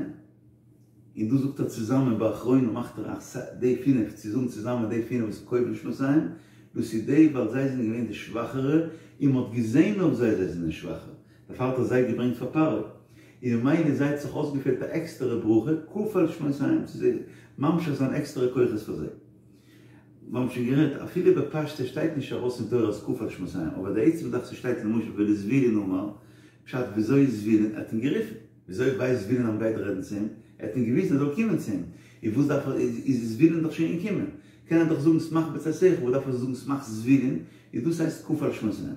און דא זאגט ער צוזאמען באחרונה מאכט ער א די פינף צו זאגן צוזאמען די פינף וואס כופל שמותיהם, דאס איז די ווייל זיי זענען געווען די שוואכערע און מ'האט געזען אויף זיי זיי זענען שוואכער, דערפאר האט ער זיי געברענגט פאר פרעה, און ממילא זיי האט זיך אויסגעפעלט א עקסטערע ברכה, כפל שמותיהם, צו זיי ממשיך זיין עקסטערע כוחות פאר זיי. מיר האבן שוין גערעדט, אפילו בפשטות שטייט נישט ארויס אין תורה אז כפל שמותיהם, אבער די עצם זאך ס'שטייט למשל ולזבולון אמר, פשט וויאזוי זבולון, ער האט אים גערופן, וויאזוי ווייסט זבולון אז מ'גייט רעדן צו אים, ער האט אים געוויזן ער זאל קומען צו אים, און וואס דארף ער, איז זבולון דאך שוין געקומען, קען ער דאך זאגן שמח בצאתך, וואס דארף ער זאגן שמח זבולון, איז דאס הייסט כפל שמותיהם.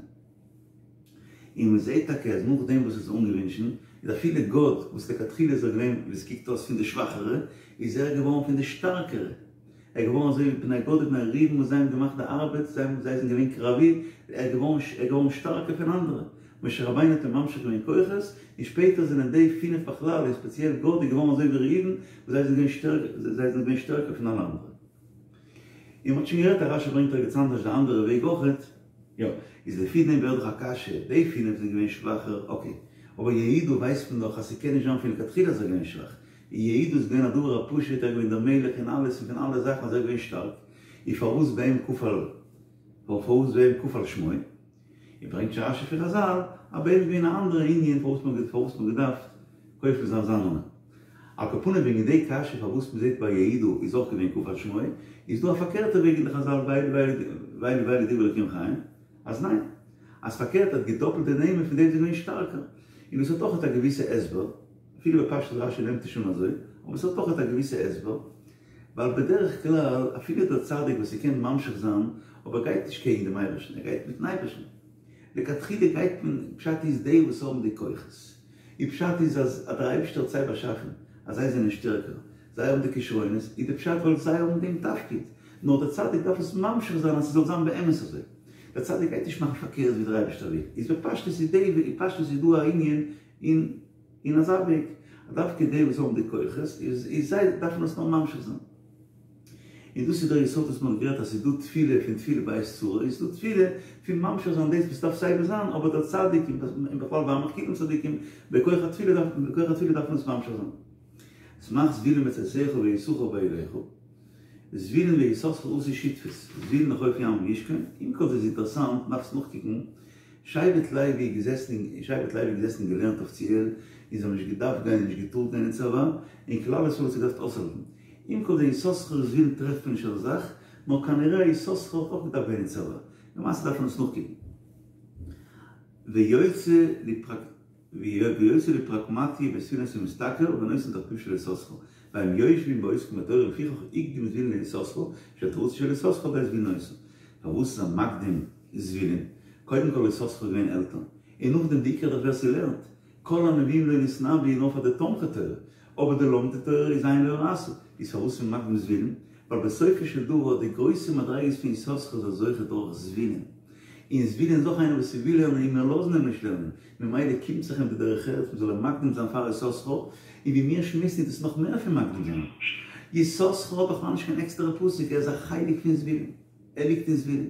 און מען זעט טאקע אז נאכדעם וואס עס איז אנגעווינטשן, איז אפילו גד, וואס לכתחילה איז ער געווען ווי עס קוקט אויס פון די שוואכערע, איז ער געווארן פון די שטארקערע. ער איז געווארן אזוי ווי בני גד ובני ראובן וואס זיי האבן געמאכט די ארבעט, זיי זיי זענען געווען קרבי, ער איז געווארן ער איז געווארן שטארקער פון אנדערע. משה רבינו האט אים ממשיך געווען כוחות, און שפעטער זענען די פינף בכלל, און ספעציעל גד איז געווארן אזוי ווי ראובן, וואס זיי זענען געווען שטערקער, זיי זענען געווען שטערקער פון אלע אנדערע. און מ'האט שוין גערעדט אז רשי ברענגט ערגעץ אנדערש די אנדערע וועג אויכעט. יא, איז לפי דעם ווערט דאך א קשיא, די פינף זענען געווען שוואכער, אקעי, אבער יהודה ווייסט מען דאך אז ס'קען נישט זיין פון לכתחילה אז ער איז געווען שוואך, יהודה איז געווען א דבר הפשוט, ער איז געווען דער מלך און אלעס און פון אלע זאכן אז ער איז געווען שטארק, און פארוואס ביי אים כפל, פארוואס ביי אים כפל שמו? און ברענגט רשי פון חזל אז ביי אים איז געווען א אנדערע ענין פארוואס מען פארוואס מען געדארפט כופל זיין זיין נאמען. על כל פנים וועגן די קשיא פארוואס מען זעט ביי יהודה איז אויך געווען כפל שמו, איז דא א פארקערטע וועג אין די חזל ואלו ואלו ואלו דברי אלקים חיים אז ניין, אז פארקערט ער האט געדאפלט די נעמען פון די וואס זענען געווען שטארקער, און דאס האט אויך א געוויסע הסבר, אפילו בפשטות רשי נעמט נישט אן אזוי, אבער עס האט אויך א געוויסע הסבר, ווייל בדרך כלל אפילו דער צדיק וואס ער קען ממשיך זיין, אבער גייט נישט קעגן דעם אייבערשטן, ער גייט מיטן אייבערשטן. לכתחילה גייט מען, פשט איז די וואס האבן די כוחות, און פשט איז אז דער אייבערשטער האט זיי באשאפן אז זיי זענען שטערקער, זיי האבן די כשרונות, איז די פשט ווייל זיי האבן דעם תפקיד, נאר דער צדיק דארף עס ממשיך זיין אז ס'זאל זיין באמת אזוי. דער צדיק גייט נישט מאכן פארקערט ווי דער אייבערשטער וויל. איז בפשטות איז די, בפשטות איז דא א ענין אין אין אזא וועג, אז דווקא די וואס האבן די כוחות, איז איז זיי דארפן עס נאר ממשיך זיין. און דאס איז דער יסוד וואס מען האט גערעדט אז ס'איז דא תפילה פון תפילה בעת צרה, און ס'איז דא תפילה פון ממשיך זיין דאס וואס דארף סייווי זיין, אבער דער צדיק, און בכלל ועמך כולם צדיקים, בכח התפילה דארף, בכח התפילה דארף מען עס ממשיך זיין. שמח זבולון בצאתך ויששכר באהלך, זבולון ויששכר עשו שותפות, זבולון לחוף ימים ישכון, עם כל זה איז אינטערעסאנט, מ'דארף עס נאכקוקן, שבט לוי איז געזעסן אין שבט לוי איז געזעסן און געלערנט אפיציעל, און זיי האבן נישט געדארפט גיין און נישט געטארט גיין אין צבא, און כלל ישראל האט זיך געדארפט אויסהאלטן. עם כל זה יששכר זבולון טרעפט מען נישט אזא זאך, נאר כנראה יששכר האט אויך געדארפט גיין אין צבא. למעשה דארף מען עס נאכקוקן. ויוצא ויוצא לפרקמטיא בתפילות ומשתכר ונותן תחביב של יששכר, והם יושבים ועוסקים בתורה לפיכך הקדים זבולון ליששכר, שתורתו של יששכר על ידי זבולון היתה. פארוואס איז ער מקדים זבולון? קודם כל יששכר איז געווען עלטער, און נאכדעם די עיקר דאך ווער ס'לערנט, כל הנביאים לא נתנבאו נאר פאר די תומכי תורה, אבער די לומדי תורה איז עין לא ראתה, איז פארוואס איז מען מקדים זבולון? ווייל בסופו של דבר די גרויסע מדריגות פון יששכר איז ער זוכה דורך זבולון, און זבולון איז אויך איינער וואס וויל לערנען און מיר לאזן אים נישט לערנען, ממילא קומט זיך אים די דרך ארץ מ'זאל אים מקדים זיין פאר יששכר, און ווי מיר שמועסן איז דאס נאך מער פון מקדים זיין. יששכר האט בכלל נישט קיין עקסטערע פסוק, ער איז א חלק פון זבולון, ער ליגט אין זבולון.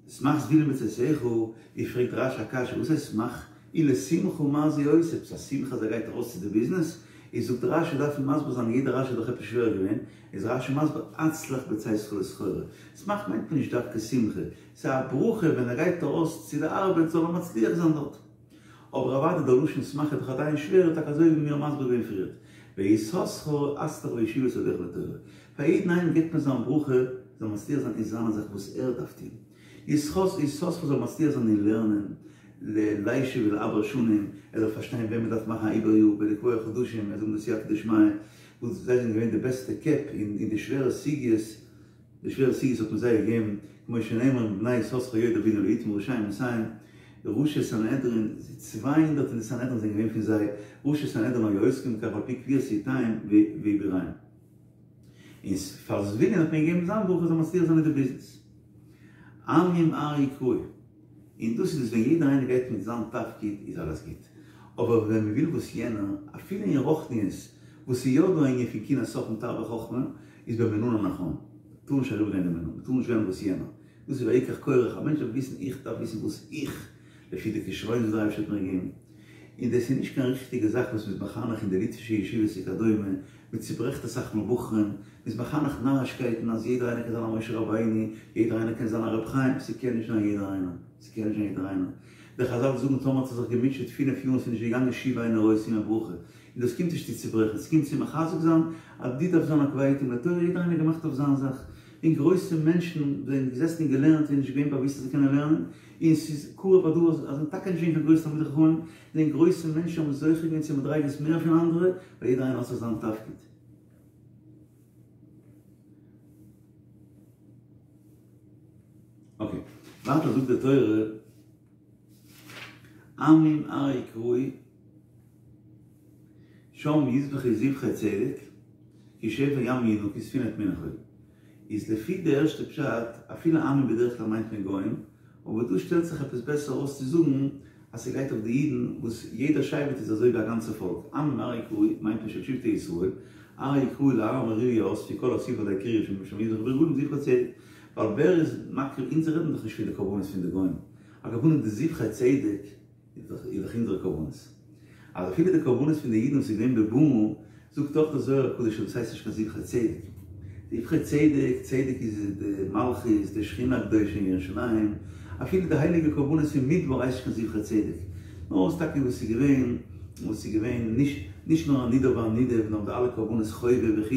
שמח זבולון בצאתך, ווי פרעגט רשי א קשיא, וואס הייסט שמח? ולשמחה מה זה עושה? עפעס א שמחה אז ער גייט ארויס צו די ביזנעס? איז זאגט רשי דארף מען מסביר זיין יעדע רשי איז דאך עפעס שווער געווען, איז רשי מסביר הצלח בצאתך לסחורה, שמח מיינט מען נישט דווקא שמחה, ס'איז א ברכה ווען ער גייט ארויס צו די ארבעט זאל ער מצליח זיין דארט. אבער אוודאי דער לשון שמח איז דאך עדיין שווער, טאקע אזוי ווי מיר האבן מסביר געווען פריערט, ויששכר הצלח בישיבת שדיך לתורה, פאר יעדן איינעם גיבט מען זיין ברכה זאל מצליח זיין אין זיינע זאך וואס ער דארף טון, יששכר זאל מצליח זיין אין לערנען, לישב ולעבר שנים, ער זאל פארשטיין ווען מען דארף מאכן א עיבור יאר, ולקבוע חדשים, ער זאל האבן די סייעתא דשמיא, וואס זיי זענען געווען די בעסטע קעפ אין די שווערע סוגיות, די שווערע סוגיות האט מען זיי געגעבן, כמו שנאמר מבני יששכר יודעי בינה לעתים ראשי מאתים, ראשי סנהדרין, צוויי הונדערט אין די סנהדרין זענען געווען פון זיי, ראשי סנהדרין היו עוסקים בכך על פי קביעות עתים ועיבוריהם. און פאר זבולון האט מען געגעבן זיין ברכה זאל מצליח זיין מיט די ביזנעס. עמים ארעא קראי. און דאס איז דאס ווען יעדער איינער גייט מיט זיין תפקיד איז אלעס גוט. אבער ווען מען וויל וואס יענער, אפילו אין רוחניות, וואס איז יא דא א ענין פון קנאת סופרים תרבה חכמה, איז במינון הנכון. מען טאר נישט אריבערגיין די מינון, מען טאר נישט וועלן וואס יענער. דאס איז ויקח קורח, א מענטש דארף וויסן איך דארף וויסן וואס איך, לפי די כשרונות וואס דער אייבערשטער האט מיר געגעבן. און דאס איז נישט קיין ריכטיגע זאך וואס מ'איז מחנך אין די ליטווישע ישיבות וכדומה, מ'צוברעכט אסאך מאל בחורים, מ'איז מחנך נארישקייטן אז יעדער איינער קען זיין א משה רבינו, יעדער איינער קען זיין א רבי חיים, ס'קען נישט זיין יעדער איינער, ס'קען נישט זיין יעדער איינער. די חזל זאגן טאמער האט ער זיך געמוטשעט פינף יאר און ס'איז נישט געגאנגען שוב אינו רואה סימן ברכה, און דאס קומט נישט צו צוברעכן, ס'קומט צו מחזק זיין אז דו דארפסט זיין א קובע עתים לתורה, יעדער איינער געמאכט אויף זיין זאך, און גרויסע מענטשן זענען געזעסן און געלערנט און נישט געווען באוואוסט אז זיי קענען לערנען, און ס'איז קרוב הדבר אז זענען טאקע נישט געווען קיין גרויסע תלמידי חכמים, זענען גרויסע מענטשן האבן זוכה געווען צו מדריגות מער פון אנדערע, ווייל יעדער איינער האט זיך זיין תפקיד. אקעי, ווייטער זאגט די תורה, עמים ארעא קראי, שם יזבחו זבחי צדק, כי שפר ימים ינוקו וספינה טמונה חול. איז לפי די ערשטע פשט, אפילו עמים בדרך כלל מיינט מען גוים, אבער דא שטעלט זיך עפעס בעסער אויס צו זאגן אז ס'גייט אויף די אידן וואס יעדער שבט איז אזוי ווי א גאנצע פאלק, עמים ארעא יקראו מיינט מען של שבטי ישראל, ארעא יקראו להר המוריה יאספו כל האסיפה די קריאה שם יזבחו ברגלים זבחי צדק, ווייל ווער איז מקריב, אונז רעדן דאך נישט פון די קרבנות פון די גוים, על כל פנים די זבחי צדק איז דאך אונזערע קרבנות. אז אפילו די קרבנות פון די אידן וואס איז געווען בבמה, זאגט דאך דער זוהר הקדוש אז דאס הייסט נישט קיין זבחי צדק. זבחי צדק, צדק איז די מלכות, די שכינה הקדושה אין ירושלים, אפילו די הייליגע קרבנות פון מדבר הייסט נישט קיין זבחי צדק. נאר עס טאקע וואס איז געווען, וואס איז געווען נישט, נישט נאר הנידה והנידב, נאר די אלע קרבנות חובה וכו',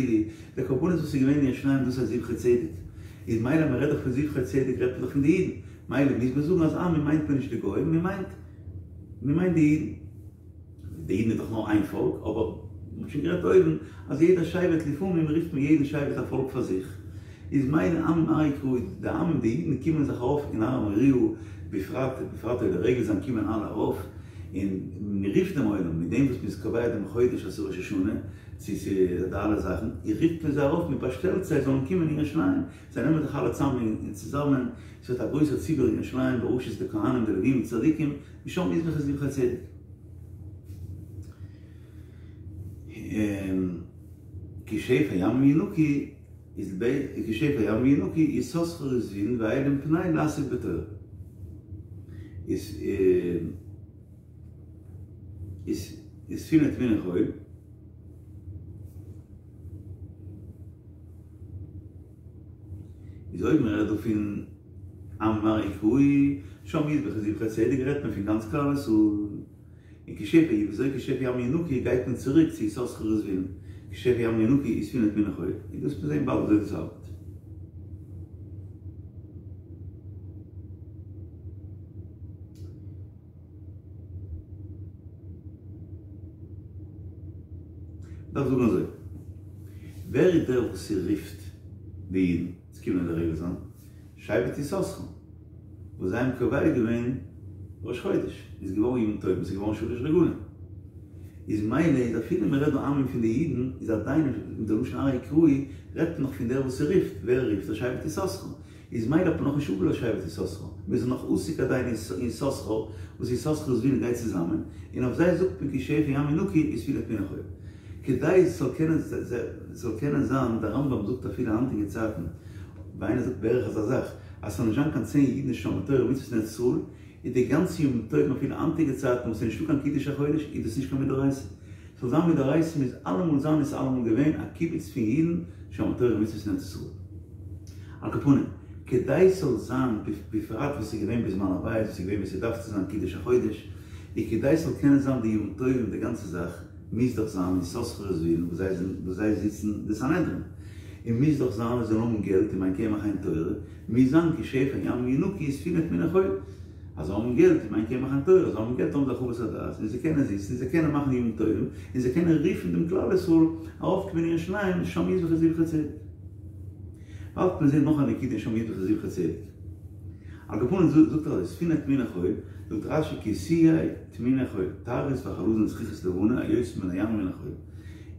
די קרבנות וואס איז געווען אין ירושלים דאס הייסט זבחי צדק. איז מילא מען רעדט דאך פון זבחי צדק רעדט מען דאך פון די אידן. מילא מוז מען זאגן אז עמים מיינט מען נישט די גוים, מען מיינט, מען מיינט די אידן. די אידן איז דאך נאר איין פאלק, אבער מ'האט שוין גערעדט אויבן אז יעדער שבט לפעמים רופט מען יעדן שבט א פאלק פאר זיך, איז מילא עמים ארעא יקראו, די עמים די אידן קומען זיך ארויף אין הר המוריה, בפרט בפרט עולי רגל זיין קומען אלע ארויף, און מ'רופט דעם עולם מיט דעם וואס מ'איז קובע דעם חודש אז ס'איז ראש השנה, צו צו די אלע זאכן, און רופט מען זיי ארויף, מ'באשטעלט זיי זאלן קומען אין ירושלים, זיי נעמען זיך אלע צאם און צוזאמען, ס'ווערט א גרויסער ציבור אין ירושלים בראשות די כהנים די לווים די צדיקים, ושם יזבחו זבחי צדק. כי שפר ימים ינוקו איז ב כי שפר ימים ינוקו יששכר וזבולון והיה להם פנאי לעסוק בתורה. איז איז וספינה טמונה חול. איז אויב מען רעדט דא פון עמים ארעא יקראו שם יזבחו זבחי צדק רעדט מען פון גאנץ כלל ישראל. און כי שפר י וויאזוי כי שפר ימים ינוקו גייט מען צוריק צו יששכר וזבולון כי שפר ימים ינוקו וספינה טמונה חול און דאס מיר זעהן באלד וויאזוי דאס ארבעט. מ'דארף זאגן אזוי, ווער איז דער וואס ס'רופט די אידן צו קומען עולה רגל זיין? שבט יששכר, וואס זיי האבן קובע געווען ראש חודש, איז געווארן ימים טובים, ס'איז געווארן שלש רגלים. איז מילא איז אפילו מ'רעדט דא עמים פון די אידן, איז עדיין מיט די לשון ארעא יקראו, רעדט מען נאך פון דער וואס ס'רופט, ווער רופט? דער שבט יששכר. איז מילא האט מען נאכנישט אפגעלאזט שבט יששכר, מיר זענען נאך עוסק עדיין אין יששכר, וואס יששכר וזבולון גייט צוזאמען, און אויף זיי זאגט מען כי שפר ימים ינוקו וספינה טמונה חול. כדי עס זאל קענען זאל קענען זיין, דער רמב"ם זאגט אפילו היינטיגע צייטן, ווי איינער זאגט בערך אזא זאך, אז ס'זאל נישט זיין קיין צען אידן שומרי תורה ומצוות אין ארץ ישראל, איז די גאנצע ימים טובים אפילו היינטיגע צייטן וואס איז נישטא קיין קידוש החודש איז דאס נישט קיין מדאורייתא. ס'זאל זיין מדאורייתא מוז אלעמאל זיין און ס'איז אלעמאל געווען א קיבוץ פון אידן שומרי תורה ומצוות אין ארץ ישראל. על כל פנים, כדי ס'זאל זיין, בפרט וואס ס'איז געווען בזמן הבית, וואס איז געווען ווי ס'דארף צו זיין קידוש החודש, איז כדי ס'זאל קענען זיין די ימים טובים די גאנצע זאך, מוז דאך זיין יששכר וזבולון וואס זיי זענען וואס זיי זיצן די סנהדרין, און מוז דאך זיין זיי זאלן האבן געלט אם אין קמח אין תורה, מוז זיין כי שפר ימים ינוקו וספינה טמונה חול. אז זיי האבן געלט, אם אין קמח אין תורה, זיי האבן געלט האבן זיי הרחבת הדעת, און זיי קענען זיצן, און זיי קענען מאכן ימים טובים, און זיי קענען רופן דעם כלל ישראל ארויפקומען אין ירושלים, שם יזבחו זבחי צדק. באלד וועט מען זען נאך א נקודה אין שם יזבחו זבחי צדק. על כל פנים זאגט ער אזוי, ספינה טמונה חול, זאגט רש"י כי תהיה טמונה חול, טרית וחלזון זכוכית לבנה היוצא מן הים ומן החול.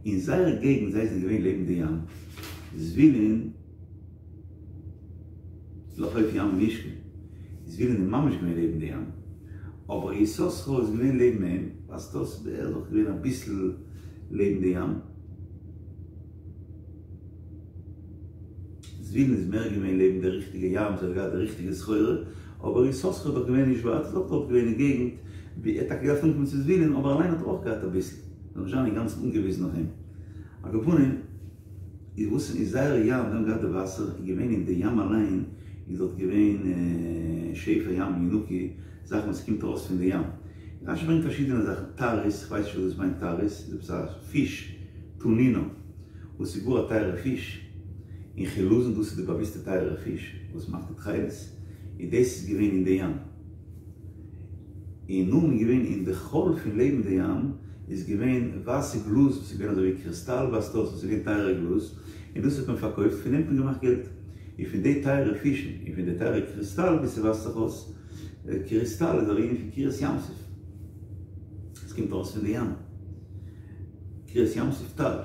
אין זייער געגנט זיי זענען געווען לעבן די ים, זבולון, לחוף ים ישכון, זבולון איז ממש געווען לעבן די ים, אבער יששכר איז געווען לעבן אים, ווייזט אויס ער איז אויך געווען אביסל לעבן די ים, זבולון איז מער געווען לעבן די ריכטיגע ים, זיי האבן געהאט די ריכטיגע סחורה, אבער יששכר איז דאך געווען נישט ווייט, איז אויך דארט געווען אין געגנט, ווי ער האט טאקע געדארפט אנקומען צו זבולון, אבער אליין האט ער אויך געהאט אביסל, זאל נישט זיין אינגאנצן אנגעוויזן אויף אים. על כל פנים. איז וואס אין זייער ים זיי האבן געהאט די וואסער איז געווען אין די ים אליין איז דארט געווען שפר ימים ינוקו זאכן וואס קומט ארויס פון די ים רש"י ברענגט פארשידענע זאכן טרית כ'ווייס נישט וואס דאס מיינט טרית איז עפעס א פיש תנינא וואס איז גאר א טייערע פיש און חילזון דאס איז די באוויסטע טייערע פיש וואס מאכט די תכלת און דאס איז געווען אין די ים. און נאכדעם איז געווען אין די חול פון לעבן די ים איז געווען ווייסע גלאז וואס איז געווען אזוי ווי קריסטאל ווייזט אויס וואס איז געווען טייערע גלאז און דאס האט מען פארקויפט פון דעם האט מען געמאכט געלט און פון די טייערע פישן און פון די טייערע קריסטאל ווי ס'ווייזט זיך אויס קריסטאל איז א ענין פון קריעת ים סוף עס קומט ארויס פון די ים. קריעת ים סוף טל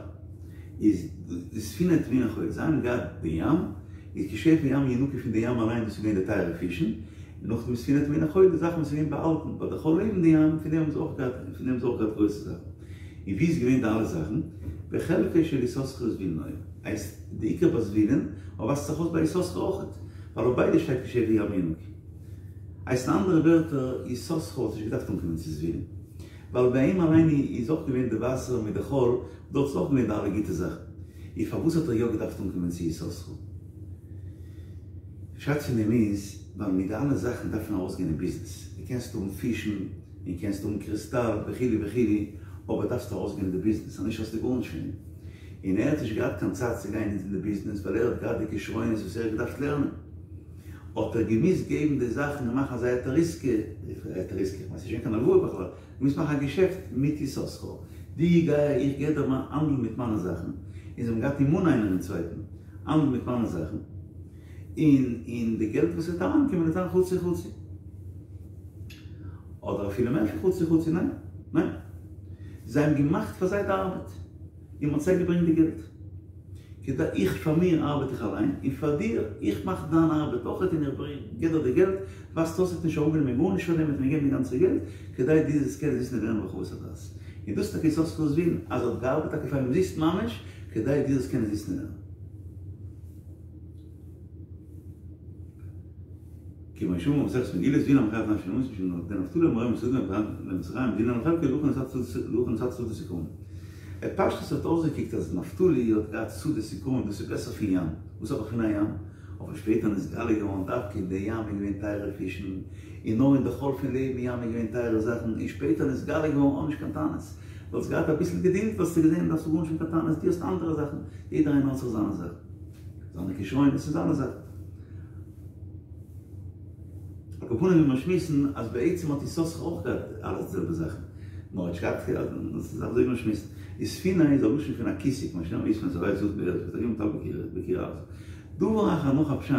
איז די ספינה טמונה חול, זיי האבן געהאט די ים, איז כי שפע ים ינוקא פון די ים אליין דאס איז געווען די טייערע פישן, און נאכדעם איז ספינה טמונה חול די זאכן וואס איז געווען באהאלטן ביי די חול לעבן די ים, פון דעם האבן זיי אויך געהאט, פון דעם האבן זיי אויך געהאט גרויסע זאכן. און ווי איז געווען די אלע זאכן? בחלקו של יששכר וזבולון היה. הייסט די עיקר ביי זבולון, אבער ווייזט זיך אויס ביי יששכר אויכעט, ווייל אויף ביידע שטייט כי שפע ים ינוקא. הייסט אין אנדערע ווערטער, יששכר וואלט נישט געדארפט אנקומען צו זבולון. ווייל ביי אים אליין איז אויך געווען די וואסער מיט די חול, דארט איז אויך געווען די אלע גוטע זאכן. און פארוואס האט ער יא געדארפט אנקומען צו יששכר? פשט פון דעם איז, ווייל מיט די אלע זאכן דארף מען ארויסגיין אין ביזנעס. דו קענסט האבן פישן, און קענסט האבן קריסטאל וכו' וכו', אבער דארפסט ארויסגיין אין די ביזנעס, אנישט האסטו גארנישט פון דעם. און ער האט נישט געהאט קיין צייט צו גיין אין די ביזנעס, ווייל ער האט געהאט די כשרונות וואס ער האט געדארפט לערנען. האט ער געמוזט געבן די זאכן און מאכן אזא היתר עסקה, היתר עסקה, כ'מיין ס'איז נישט געווען קיין הלוואה בכלל, געמוזט מאכן א געשעפט מיט יששכר, דו גיי איך געב דיר מיין האנדל מיט מיינע זאכן, און זיי האבן געהאט אמונה איינער אין צווייטן, האנדל מיט מיינע זאכן, און און די געלט וואס וועט אריינקומען וועט זיין חצי חצי, אדער אפילו מער פון חצי חצי, ניין ניין, זיי האבן געמאכט פאר זיי די ארבעט, און מ'האט זיי געברענגט די געלט. כדי איך פאר מיר ארבעט איך אליין, און פאר דיר, איך מאך דיין ארבעט אויכעט און איך ברענג גיב דיר די געלט, ווייזט אויס האט נישט אראפגענומען גארנישט פאר דעם האט מיר געגעבן די גאנצע געלט, כדי דו זאלסט קענען זיצן און לערנען ברחבות הדעת. און דאס איז טאקע יששכר'ס ווילן, אז ער האט געארבעט טאקע פאר אומזיסט ממש, כדי דו זאלסט קענען זיצן און לערנען. כמו שאמרו במסכת מגילה זבולון המחנך את נפשו במות משום דנפתלי אמורא מסעודה למצרים דינן לחלקו להכי נתתי שדות וכרמים. בפשטות האט אויסגעקוקט אז נפתלי האט געהאט שדות וכרמים דאס איז בעסער פון ים, וואס האב איך פון א ים? אבער שפעטער נתגלה געווארן דווקא אין די ים איז געווען טייערע פישן, און נאר אין די חול פון לעבן ים איז געווען טייערע זאכן, און שפעטער נתגלה געווארן האב נישט קיין טענות, וואלסט געהאט אביסל געדולד וואלסטו געזען דארפסטו גארנישט האבן קיין טענות, דו האסט אנדערע זאכן, יעדער איינער האט זיך זיינע זאכן, זיינע כשרונות און זיינע זאכן. על כל פנים ווי מיר שמועסן אז בעצם האט יששכר אויך געהאט אלע די זעלבע זאכן, נאר ער האט נישט געהאט דאס איז אזוי ווי מיר שמועסן, איז ספינה איז א לשון פון א כיסוי כמו שנאמר ויספנו את הבית זאת בארץ ותרים טל בקיר ארצה. דבר אחר נאך א פשט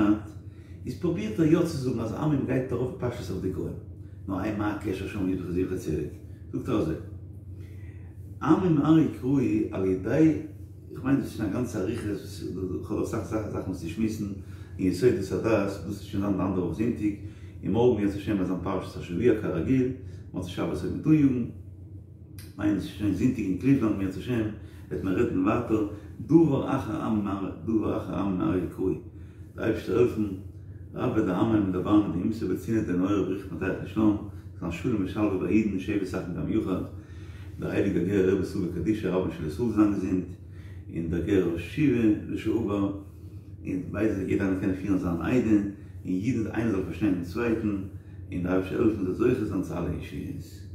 איז פרובירט ער יא צו זאגן אז עמים גייט ארויף פשטות אויף די גוים, נו איי מה הקשר שם יזבח זבחי צדק? זאגט ער אזוי עמים ארעי קראי על ידי איך מיין דאס איז שוין א גאנצע אריכות, איך האב אסאך זאכן וואס צו שמועסן אין יסודות הדת, דאס וועט שוין זיין די אנדערע וואך זונטאג, און מארגן אם ירצה השם וועט זיין פרשת השבוע כרגיל, מוצאי שבת וועט מען אניאגן, מיין עס איז שוין זונטאג אין קליוולאנד אם ירצה השם וועט מען רעדן ווייטער, דבר אחר עמים ארעי, דבר אחר עמים ארעי קראי, די אייבערשטער העלפן, רבה דעמא דבר מדאימתא בצינעא דנהורא בריך מטייח ושלום, זיין שלום ושלווה ביי אידן שבת אחים גם יחד. דער הייליגער גערער רבי סבא קדישא רבן של ישראל זיין געזונט, און דער גערער ראש ישיבה לשעבר, און ביידע זאל יעדער איינער קענען פירן זיין עדה, און יעדער איינער זאל פארשטיין דעם צווייטן, און דער אייבערשטער העלפן זאל זוכה זיין צו אלע ישועות.